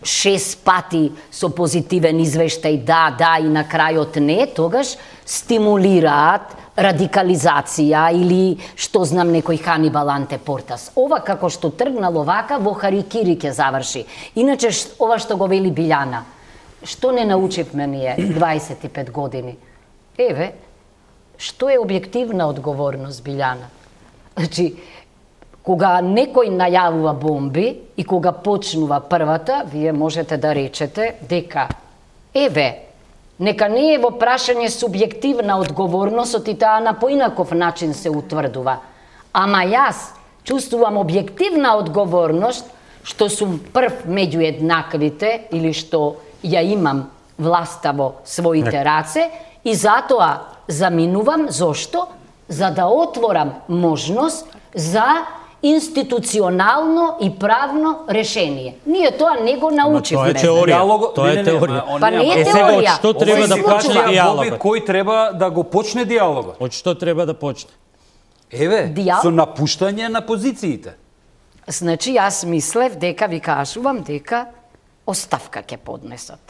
шест пати со позитивен извештај да, да и на крајот не, тогаш стимулираат радикализација или што знам некој Ханибал Антепортас. Ова како што тргнало вака во харикири ќе заврши. Иначе ш- ова што го вели Билјана, што не научивме ние дваесет и пет години? Еве, што е објективна одговорност, Билјана? Значи, кога некој најавува бомби и кога почнува првата, вие можете да речете дека еве, нека не е во прашање субјективна одговорност и таа на поинаков начин се утврдува. Ама јас чувствувам објективна одговорност што сум прв меѓу еднаквите или што ја имам власта во своите раце и затоа заминувам. Зошто? За да отворам можност за институционално и правно решение. Ние тоа не го научивме. тоа е теорија. Диалогот- Тоа не, е не, не, теорија. ма, он Па не не е Е, сега, од теорија. што треба Ова да се почне случува. диалогот? Боби, кој треба да го почне диалогот? Од што треба да почне? Еве, Диал- со напуштање на позициите. Значи, јас мислев дека ви кажувам дека оставка ќе поднесат.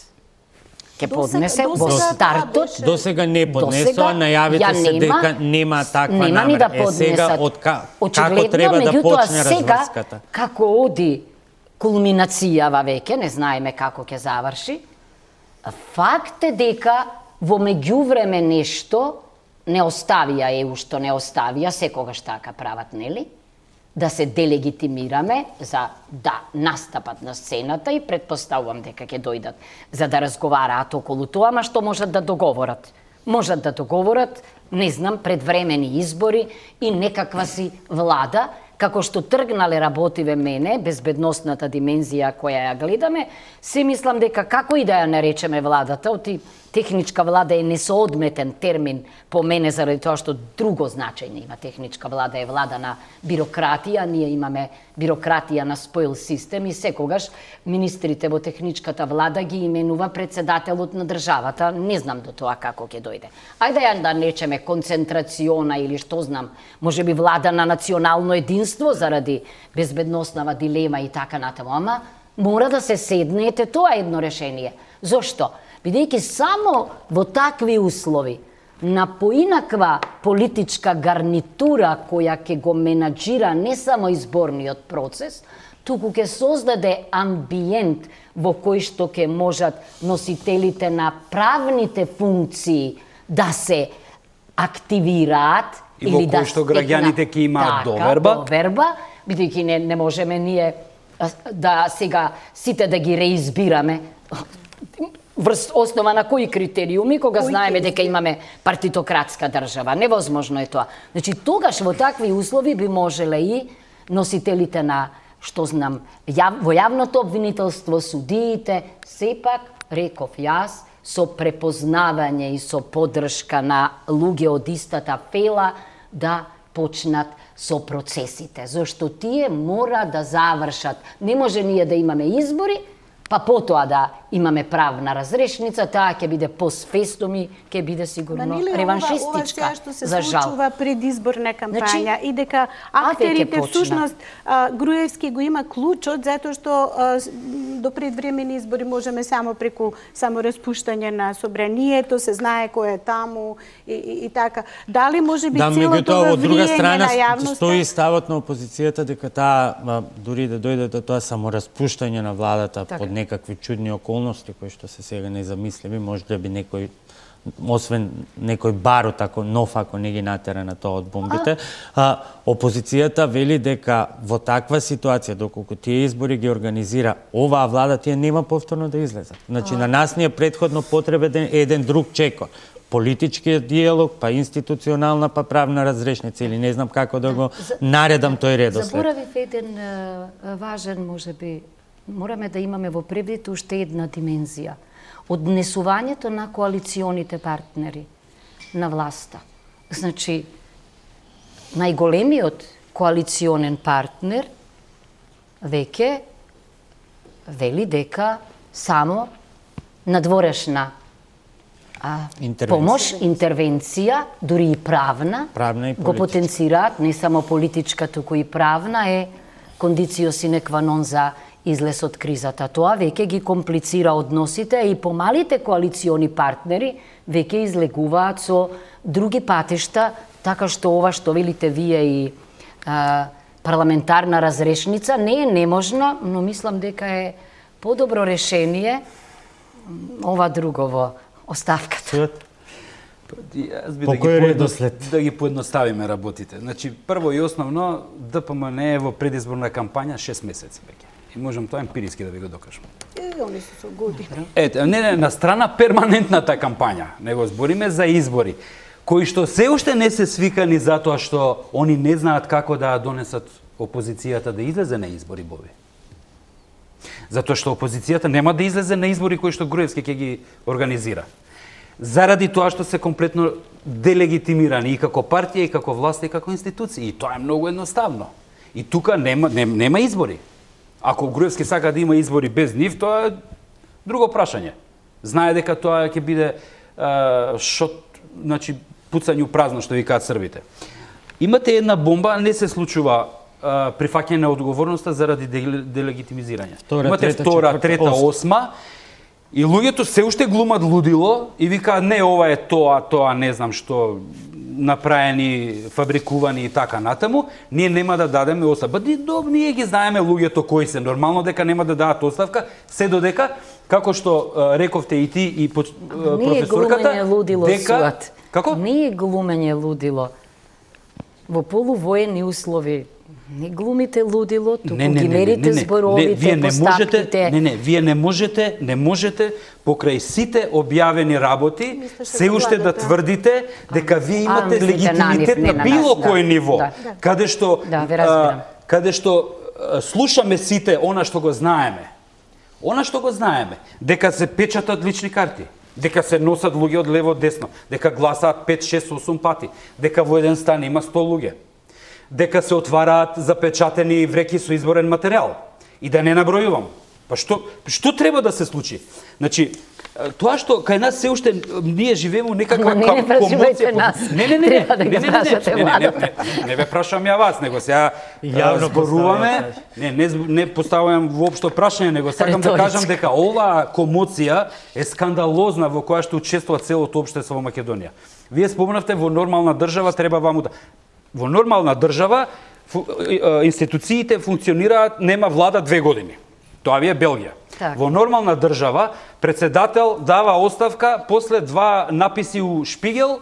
Ќе Досега- поднесе во досега тоа стартот. беше. До сега не поднесоа, Досега најавите ја се нема, дека нема таква нема намера. ни да Е, сега, поднесат. од ка- како Очигледно, треба да меѓутоа, почне сега, разврската? како оди кулминацијава веќе, не знаеме како ќе заврши, факт е дека во меѓувреме нешто не оставија Е У што не оставија, секогаш така прават, нели? Да се делегитимираме за да настапат на сцената и предпоставувам дека ќе дојдат за да разговараат околу тоа, ама што можат да договорат? Можат да договорат, не знам, предвремени избори и некаква си влада, како што тргнале работиве мене, безбедносната димензија која ја гледаме, се мислам дека како и да ја наречеме владата, оти техничка влада е несоодметен термин по мене заради тоа што друго значење има. Техничка влада е влада на бирократија, ние имаме бирократија на споил систем и секогаш министрите во техничката влада ги именува председателот на државата. Не знам до тоа како ќе дојде. Ајде ја да наречеме концентрациона или што знам, можеби влада на национално единство заради безбедносната дилема и така натаму, ама мора да се седнете, тоа е едно решение. Зошто? Бидејќи само во такви услови на поинаква политичка гарнитура која ќе го менаџира не само изборниот процес, туку ќе создаде амбиент во кој што ќе можат носителите на правните функции да се активираат и во или да кој што граѓаните ќе имаат доверба, доверба, бидејќи не, не можеме ние да сега сите да ги реизбираме врз основа на кои критериуми, кога кој знаеме дека имаме партитократска држава. Невозможно е тоа. Значи, тогаш во такви услови би можеле и носителите на, што знам, јав, во јавното обвинителство, судиите, сепак, реков јас, со препознавање и со поддршка на луѓе од истата фела, да почнат со процесите. Зошто тие мора да завршат. Не може ние да имаме избори, па потоа да имаме правна разрешница, таа ќе биде постфестум и ќе биде сигурно реваншистичка, ова, ова што се за жал. случува предизборна кампања, Значи, и дека актерите всушност Груевски го има клучот, затоа што а, до предвремени избори можеме само преку само распуштање на собранието, се знае кој е таму и, и, и така. Дали може би да, целото тоа, од друга влијање страна, на јавноста? стои ставот на опозицијата дека таа, дури да дојде до тоа само распуштање на владата така. Под некакви чудни околности кои што се сега незамисливи, може да би некој, освен некој барут ако нов ако не ги натера на тоа од бомбите, а, опозицијата вели дека во таква ситуација, доколку тие избори ги организира оваа влада, тие нема повторно да излезат. Значи, а... на нас ни е претходно потребен еден друг чекор. Политичкиот диалог, па институционална, па правна разрешница, или не знам како да го наредам тој редослед. Заборавив еден важен, можеби, мораме да имаме во предвид уште една димензија. Однесувањето на коалиционите партнери на власта. Значи, најголемиот коалиционен партнер веќе вели дека само надворешна а, интервенција. помош, интервенција, дури и правна, правна и го потенцираат, не само политичка, туку и правна, е кондицио sine qua non за излез од кризата. Тоа веќе ги комплицира односите и помалите коалициони партнери веќе излегуваат со други патишта, така што ова што велите вие и а, парламентарна разрешница не е неможно, но мислам дека е подобро решение ова другово оставката. Јас би По да кој ги, редослед? да ги поедноставиме работите. Значи, прво и основно, ДПМН е во предизборна кампања шест месеци веќе. И можам тоа емпириски да ви го докажам. Е, они се со години. Ете, не, не, на страна перманентната кампања, него збориме за избори, кои што се уште не се свикани затоа што они не знаат како да донесат опозицијата да излезе на избори, Боби. Затоа што опозицијата нема да излезе на избори кои што Груевски ќе ги организира. Заради тоа што се комплетно делегитимирани и како партија, и како власт, и како институции. И тоа е многу едноставно. И тука нема, нема, нема избори. Ако Груевски сака да има избори без нив, тоа е друго прашање. Знае дека тоа ќе биде а, шот, значи пуцање у празно, што викаат србите. Имате една бомба, не се случува а, прифаќање на одговорноста заради делегитимизирање. Втора, Имате трета, втора, четврта, трета, осма. осма, и луѓето се уште глумат лудило и викаат не, ова е тоа, тоа, не знам што, направени, фабрикувани и така натаму, ние нема да дадеме оставка. Ба, доб, ние ги знаеме луѓето кои се, нормално дека нема да дадат оставка, се додека, како што а, рековте и ти и по, а, професорката, не е глумење лудило, дека... Суат. Како? Не е глумење лудило. Во полувоени услови не глумите лудило, туку не, не, ги не, мерите не, не, зборовите, не, вие не можете, постапките. не, не, вие не можете, не можете покрај сите објавени работи се уште да тврдите дека вие имате а, легитимитет на, на било нас, кој да, ниво, да. каде што Да, ве разбирам. а, каде што а, слушаме сите она што го знаеме. Она што го знаеме, дека се печатат лични карти, дека се носат луѓе од лево од десно, дека гласаат пет, шест, осум пати, дека во еден стан има сто луѓе, дека се отвараат запечатени вреки со изборен материјал. И да не набројувам. Па што, што треба да се случи? Значи, тоа што кај нас се уште ние живееме некаква не, не прашувајте нас. Не, не, не, Треба да не, ги не, не, прашате не, не, не, владата. не, не ве прашам ја вас, него сега Јавно зборуваме, не, не, не поставувам воопшто прашање, него сакам да Реторички. кажам дека оваа комоција е скандалозна во која што учествува целото општество во Македонија. Вие спомнавте во нормална држава треба ваму да Во нормална држава институциите функционираат, нема влада две години. Тоа ви е Белгија. Так. Во нормална држава, председател дава оставка после два написи у Шпигел,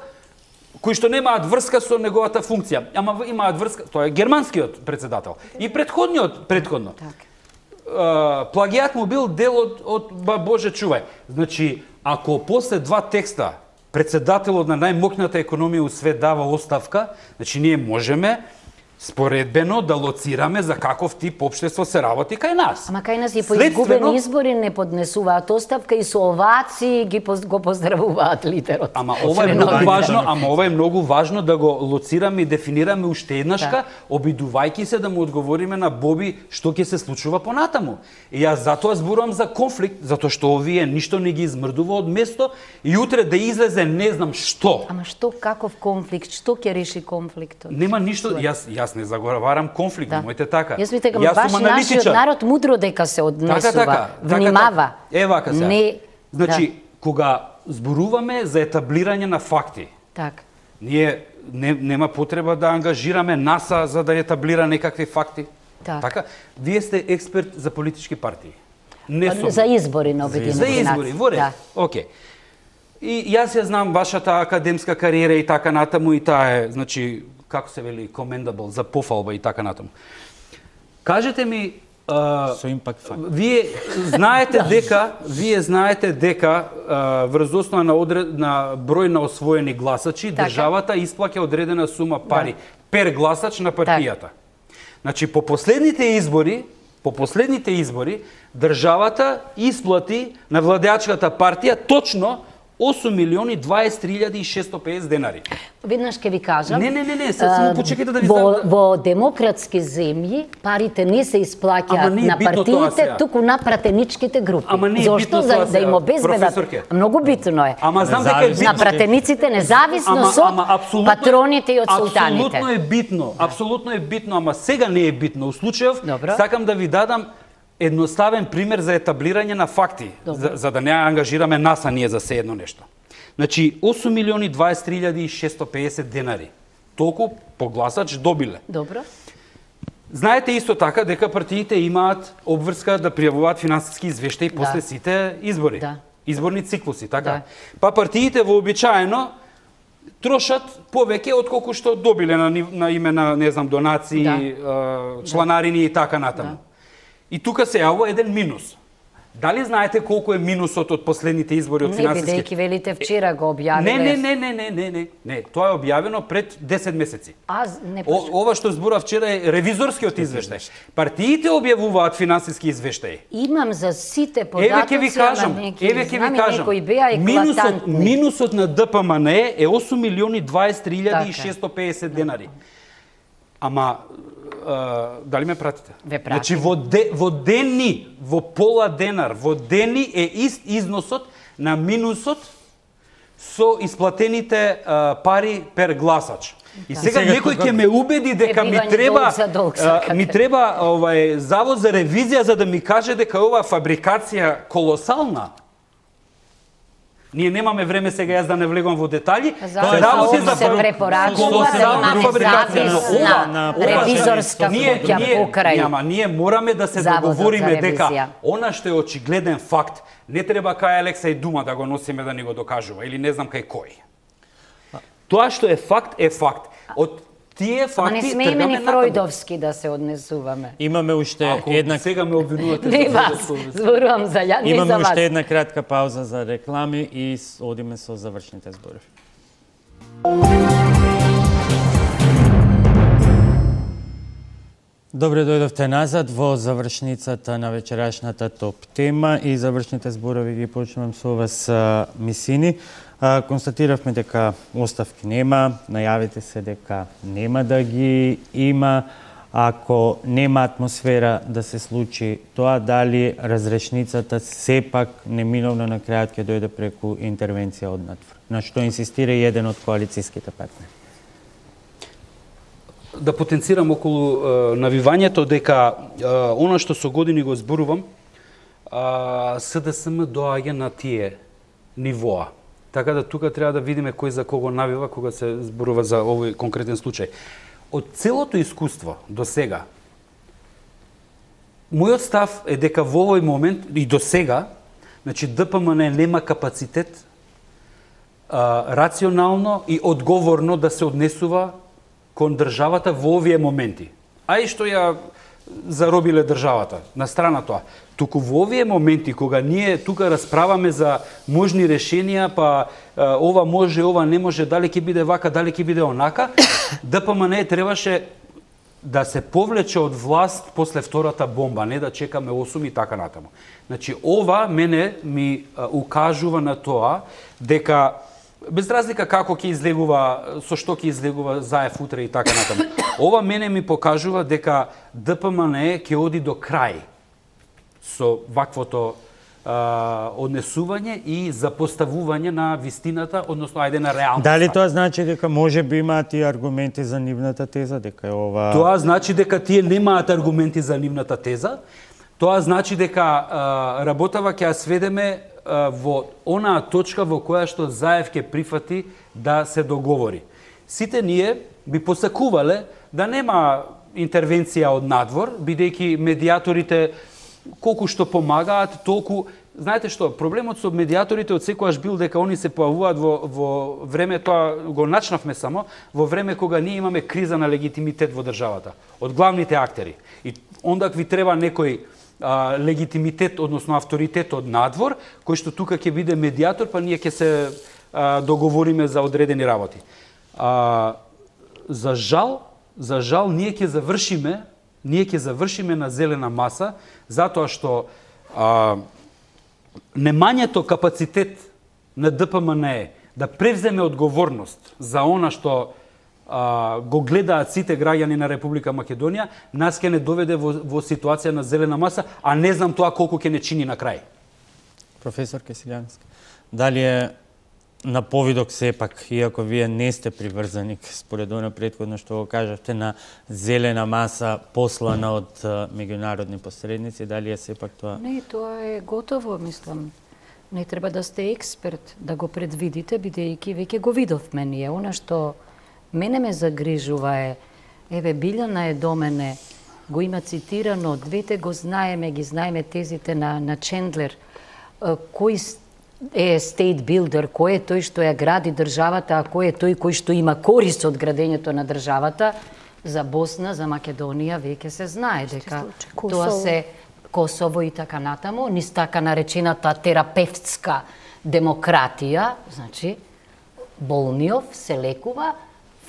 кои што немаат врска со неговата функција. Ама имаат врска, тоа е германскиот председател. И предходниот, предходно. Так. Uh, плагијат му бил дел од, од ба Боже чувај. Значи, ако после два текста председателот на најмокната економија у свет дава оставка, значи ние можеме споредбено да лоцираме за каков тип општество се работи кај нас. Ама кај нас и по Следствено... изгубени избори не поднесуваат оставка и со овации ги поз, го поздравуваат лидерот. Ама ова е многу важно, ама ова е многу важно да го лоцираме и дефинираме уште еднашка, да. Обидувајќи се да му одговориме на Боби што ќе се случува понатаму. И јас затоа зборувам за конфликт, затоа што овие ништо не ги измрдува од место и утре да излезе не знам што. Ама што, каков конфликт? Што ќе реши конфликтот? Нема ништо, јас јас не заговарам конфликт, да. Моите така. Јас викам, баш нашиот народ мудро дека се однесува, така, така, внимава. Така, така. Е вака се. Не... Значи, да. Кога зборуваме за етаблирање на факти, так. Ние не, нема потреба да ангажираме НАСА за да етаблира некакви факти. Так. Така? Вие сте експерт за политички партии. Не сум. За избори на Обединените нации. За избори, во ред. Да. Океј. И јас ја знам вашата академска кариера и така натаму и таа е, значи, како се вели, commendable, за пофалба и така натаму. Кажете ми, а, со импакт факт. Вие знаете дека, вие знаете дека а, врз основа на, одред, на број на освоени гласачи, така. Државата исплаќа одредена сума пари, да. Пер гласач на партијата. Так. Значи, по последните избори, по последните избори, државата исплати на владеачката партија точно осум милиони дваесет илјади и шестстотини и педесет денари. Виднаш ке ви кажам. Не, не, не, не, само почекайте да ви во, знам. Во демократски земји парите не се исплаќаат на партиите, туку на пратеничките групи. Ама не е Зошто? битно За, тоа да им обезбедат. Многу битно е. Ама знам дека е битно. На пратениците независно ама, со ама, патроните и од султаните. Апсолутно е битно, апсолутно е битно, ама сега не е битно. У случајов, Добро. Сакам да ви дадам едноставен пример за етаблирање на факти, за, за да не ангажираме НАСА ние за се едно нешто. Значи, осум милиони дваесет илјади и шестстотини и педесет денари. Толку по гласач добиле. Добро. Знаете исто така дека партиите имаат обврска да пријавуваат финансиски извештаи да. После сите избори. Да. Изборни циклуси, така? Да. Па партиите вообичаено трошат повеќе отколку што добиле на, на име на, не знам, донации, да. чланарини и така натаму. Да. И тука се јавува еден минус. Дали знаете колку е минусот од последните избори од финансиски? Не, бидејќи велите вчера го објавиле. Не, не, не, не, не, не, не, не. Тоа е објавено пред десет месеци. А, не О, ова што зборува вчера е ревизорскиот извештај. Партиите објавуваат финансиски извештаи. Имам за сите податоци, еве ќе ви кажам, еве ќе ви кажам. Минусот, минусот на ДПМН е осум милиони дваесет илјади и шестстотини и педесет денари. Ама Uh, дали ме пратите? Ве пратим. Значи во, де, во дени, во пола денар, во дени е ист износот на минусот со исплатените uh, пари пер гласач. И сега, сега некој ќе ме убеди дека ми треба долг, uh, ми треба овај завод за ревизија за да ми каже дека ова фабрикација колосална. Ние немаме време сега јас да не влегувам во детали. Тоа работи за се препорачува да имаме зависна ревизорска куќа покрај. Нема, ние мораме да се договориме дека она што е очигледен факт, не треба кај Алексеј Дума да го носиме да ни го докажува или не знам кај кој. Тоа што е факт е факт. Од тие факти Ама не смееме ни фројдовски да се однесуваме. Имаме уште Ако една... сега ме обвинувате не вас, зборувам за ја, не Имаме за вас. уште една кратка пауза за реклами и одиме со завршните зборови. Добре дојдовте назад во завршницата на вечерашната топ тема и завршните зборови ги почнувам со вас, Мисини. Констатиравме дека оставки нема, најавите се дека нема да ги има. Ако нема атмосфера да се случи тоа, дали разрешницата сепак неминовно на крајот ќе дојде преку интервенција од надвор, на што инсистира и еден од коалицијските партнери? Да потенцирам околу е, навивањето дека е, она што со години го зборувам, е, СДСМ доаѓа на тие нивоа. Така да тука треба да видиме кој за кого навива кога се зборува за овој конкретен случај. од целото искуство до сега, мојот став е дека во овој момент и до сега, значи Д П М Н нема капацитет а, рационално и одговорно да се однесува кон државата во овие моменти. А и што ја заробиле државата, на страна тоа. Туку во овие моменти, кога ние тука расправаме за можни решенија, па а, ова може, ова не може, дали ќе биде вака, дали ќе биде онака, Д П М Н требаше да се повлече од власт после втората бомба, не да чекаме осум и така натаму. Значи, ова мене ми а, укажува на тоа дека без разлика како ќе излегува, со што ќе излегува Заев утре и така натаму. Ова мене ми покажува дека Д П М Н ќе оди до крај со ваквото а, однесување и запоставување на вистината, односно ајде на реалноста. Дали тоа значи дека може би имаат и аргументи за нивната теза, дека е ова... Тоа значи дека тие немаат аргументи за нивната теза. Тоа значи дека а, работава ќе ја сведеме а, во онаа точка во која што Заев ќе прифати да се договори. Сите ние би посакувале да нема интервенција од надвор, бидејќи медиаторите колку што помагаат, толку... Знаете што, проблемот со медиаторите од секојаш бил дека они се појавуваат во, во време, тоа го начнавме само, во време кога ние имаме криза на легитимитет во државата, од главните актери. И ондак ви треба некој а, легитимитет, односно авторитет од надвор, кој што тука ќе биде медиатор, па ние ќе се а, договориме за одредени работи. А, за жал, за жал, ние ќе завршиме, ние ќе завршиме на зелена маса, затоа што а, немањето капацитет на Д П М Н е да превземе одговорност за она што а, го гледаат сите граѓани на Република Македонија, нас ќе не доведе во, во ситуација на зелена маса, а не знам тоа колку ќе не чини на крај. Професор Кесилјански, дали е на повидок сепак, иако вие не сте приврзаник, според оно претходно што го кажавте, на зелена маса послана од меѓународни посредници, дали е сепак тоа? Не, тоа е готово, мислам. Не треба да сте експерт да го предвидите, бидејќи веќе го видовме ние. Она што мене ме загрижува е, еве Билјана е до мене, го има цитирано, двете го знаеме, ги знаеме тезите на, на Чендлер, кој е стейт билдер, кој е тој што ја гради државата, а кој е тој кој што има корист од градењето на државата. За Босна, за Македонија веќе се знае дека тоа се Косово и така натаму, низ така наречената терапевтска демократија, значи болниов се лекува.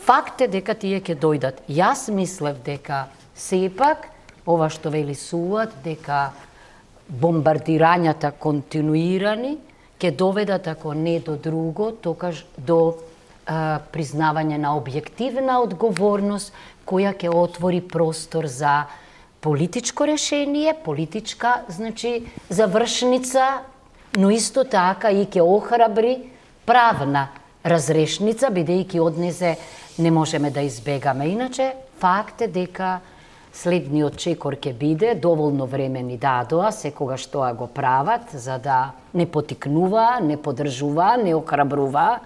Факт е дека тие ќе дојдат. Јас мислев дека сепак ова што вели Суват, дека бомбардирањата континуирани ќе доведат, ако не до друго, токаш до а, признавање на објективна одговорност, која ќе отвори простор за политичко решение, политичка, значи, завршница, но исто така и ќе охрабри правна разрешница, бидејќи однесе не можеме да избегаме. Иначе, факт е дека следниот чекор ќе биде, доволно време ни дадоа, секогаш тоа го прават, за да не потикнува, не подржува, не охрабрува,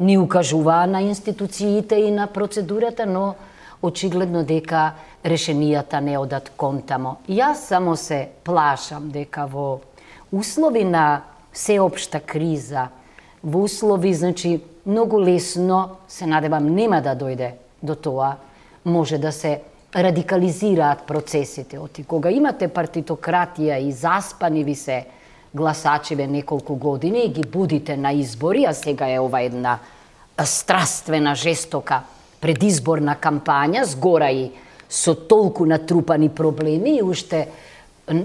не укажува на институциите и на процедурата, но очигледно дека решенијата не одат контамо. Јас само се плашам дека во услови на сеопшта криза, во услови, значи, многу лесно, се надевам, нема да дојде до тоа, може да се радикализираат процесите. Оти кога имате партитократија и заспани ви се гласачиве неколку години и ги будите на избори, а сега е ова една страствена, жестока предизборна кампања, згора и со толку натрупани проблеми и уште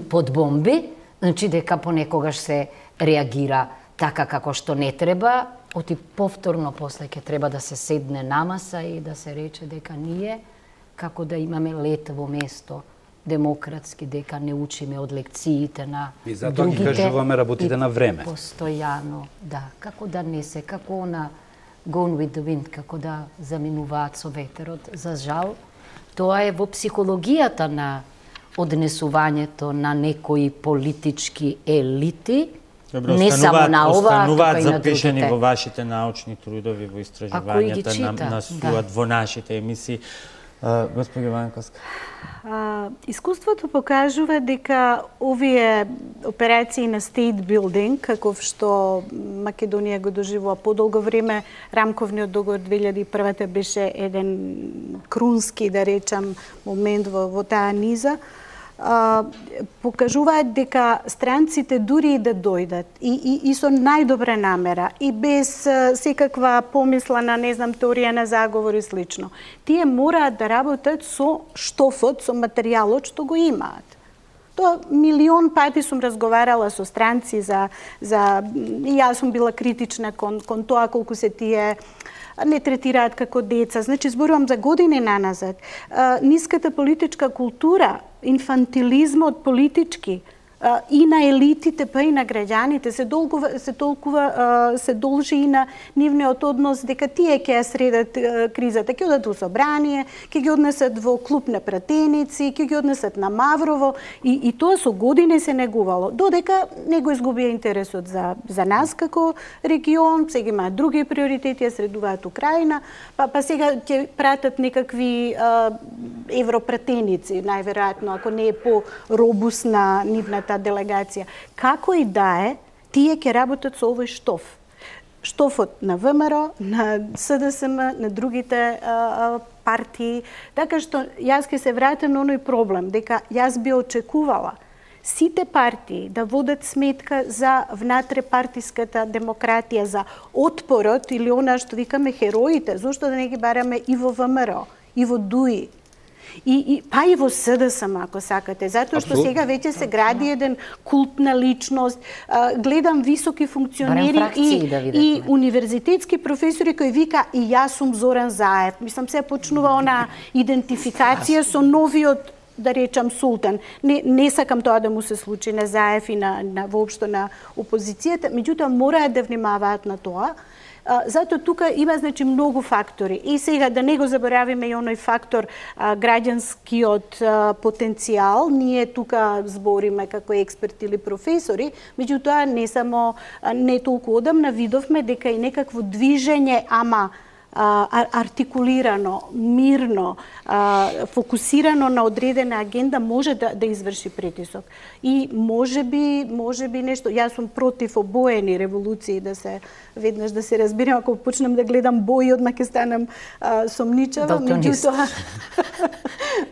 под бомби, значи дека понекогаш се реагира така како што не треба, оти повторно после ќе треба да се седне на маса и да се рече дека ние како да имаме летово место, демократски, дека не учиме од лекциите на другите. И затоа ги кажуваме работите на време. Постојано, да. Како да не се, како на Gone with the Wind, како да заминуваат со ветерот. За жал, тоа е во психологијата на однесувањето на некои политички елити, Добро, не само на ова, остануваат тука и на запишани другите. во вашите научни трудови, во истражувањата, на, насуат да. во нашите емисии. Господи Ванковска. А, искуството покажува дека овие операции на state building, каков што Македонија го доживува подолго време, рамковниот договор две илјади и прва беше еден крунски, да речам, момент во, во таа низа, а, покажуваат дека странците дури и да дојдат и, и, и со најдобра намера и без а, секаква помисла на, не знам, теорија на заговор и слично, тие мораат да работат со штофот, со материјалот што го имаат. Тоа милион пати сум разговарала со странци за, за и јас сум била критична кон, кон тоа колку се тие не третираат како деца. Значи, зборувам за години наназад. А, ниската политичка култура, инфантилизмот политички а, и на елитите, па и на граѓаните се долгува, се толкува а, се должи и на нивниот однос дека тие ќе ја средат а, кризата, ќе одат во собрание, ќе ги однесат во клуб на пратеници, ќе ги однесат на Маврово и, и тоа со години се негувало, додека не го изгубија интересот за, за нас како регион, сега имаат други приоритети, ја средуваат Украина, па, па сега ќе пратат некакви а, европратеници, најверојатно, ако не е по-робусна нивната делегација. Како и да е, тие ќе работат со овој штоф. Штофот на ВМРО, на СДСМ, на другите а, а, партии. Така што јас ќе се вратам на оној проблем, дека јас би очекувала сите партии да водат сметка за внатрепартиската демократија, за отпорот или она што викаме хероите, зошто да не ги бараме и во ВМРО, и во ДУИ. И, и, па и во СДСМ, ако сакате, затоа што сега веќе се гради еден култ на личност, а, гледам високи функционери и, да и универзитетски професори кои вика и јас сум Зоран Заев. Мислам, се почнува она идентификација со новиот, да речам, султан. Не, не сакам тоа да му се случи на Заев и на, на воопшто на опозицијата, меѓутоа мораат да внимаваат на тоа. Затоа тука има, значи, многу фактори. И сега да не го заборавиме и оној фактор а, граѓанскиот а, потенцијал. Ние тука збориме како експерти или професори, меѓутоа не само а, не толку одамна видовме дека и некакво движење, ама а, артикулирано, мирно, а, фокусирано на одредена агенда може да, да изврши притисок. И може би, може би нешто, јас сум против обоени револуции, да се веднаш да се разбирам, ако почнем да гледам бои, одма ќе станам а, сомничава, меѓутоа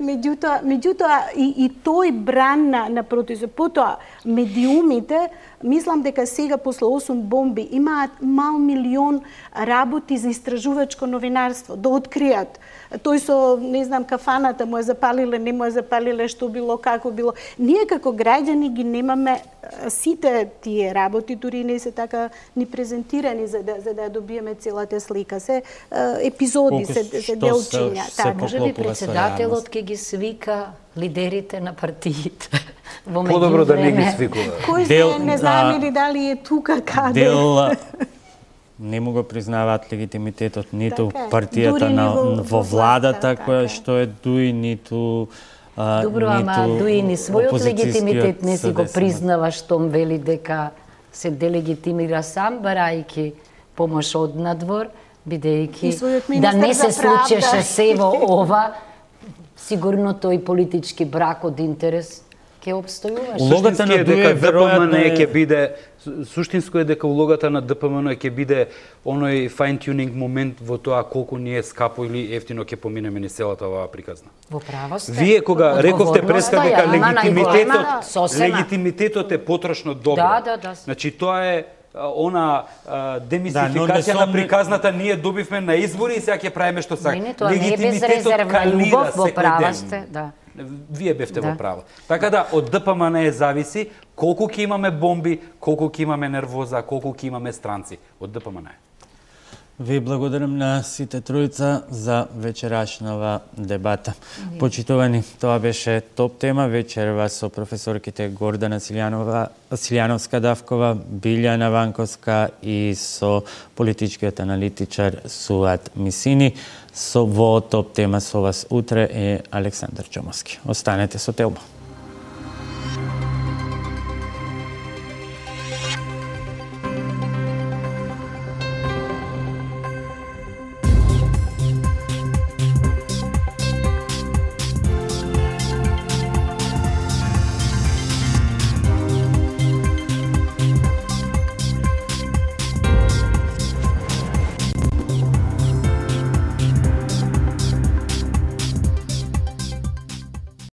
меѓутоа меѓутоа и, и тој бран на, на протисок. Потоа медиумите, мислам дека сега после осум бомби имаат мал милион работи за истражувачко новинарство, да откријат. Тој со, не знам, кафаната му е запалиле, не му е запалиле, што било, како било. Ние како граѓани ги немаме сите тие работи, дури не се така ни презентирани за да, за да добиеме целата слика. Се епизоди, се, се делчиња. Така, може би председателот ќе ги свика лидерите на партиите. Подобро да не ги свикува. Кој се не знам или дали е тука каде. Дел не му го признаваат легитимитетот ниту така, партијата на, во, во владата, така, која што е ДУИ, ниту а, Добро, ама ДУИ ни својот легитимитет не си го признава, штом вели дека се делегитимира сам, барајки помош од надвор, бидејќи да не се случеше се во ова, сигурно тој политички брак од интерес ќе обстојуваш. Улогата на ДУИ веројатно е ќе биде суштинско е дека улогата на ДПМН ќе биде оној fine tuning момент во тоа колку ни е скапо или ефтино ќе поминеме низ целата оваа приказна. Во право сте. Вие кога рековте преска дека легитимитетот легитимитетот е потрошно добро. Да, да, да. Значи тоа е она а, демисификација да, на приказната ние добивме на избори и сега ќе правиме што сакаме. Не, не, тоа не е безрезервна љубов, во права сте, да. Вие бевте да. во право. Така да, од ДПМН е зависи колку ќе имаме бомби, колку ќе имаме нервоза, колку ќе имаме странци. Од ДПМН е. Ви благодарам на сите тројца за вечерашнава дебата. Mm-hmm. Почитувани, тоа беше топ тема вечерва со професорките Гордана Силјанова, Силјановска-Давкова, Билјана Ванковска и со политичкиот аналитичар Суат Мисини. Со во топ тема со вас утре е Александар Чомовски. Останете со Телба.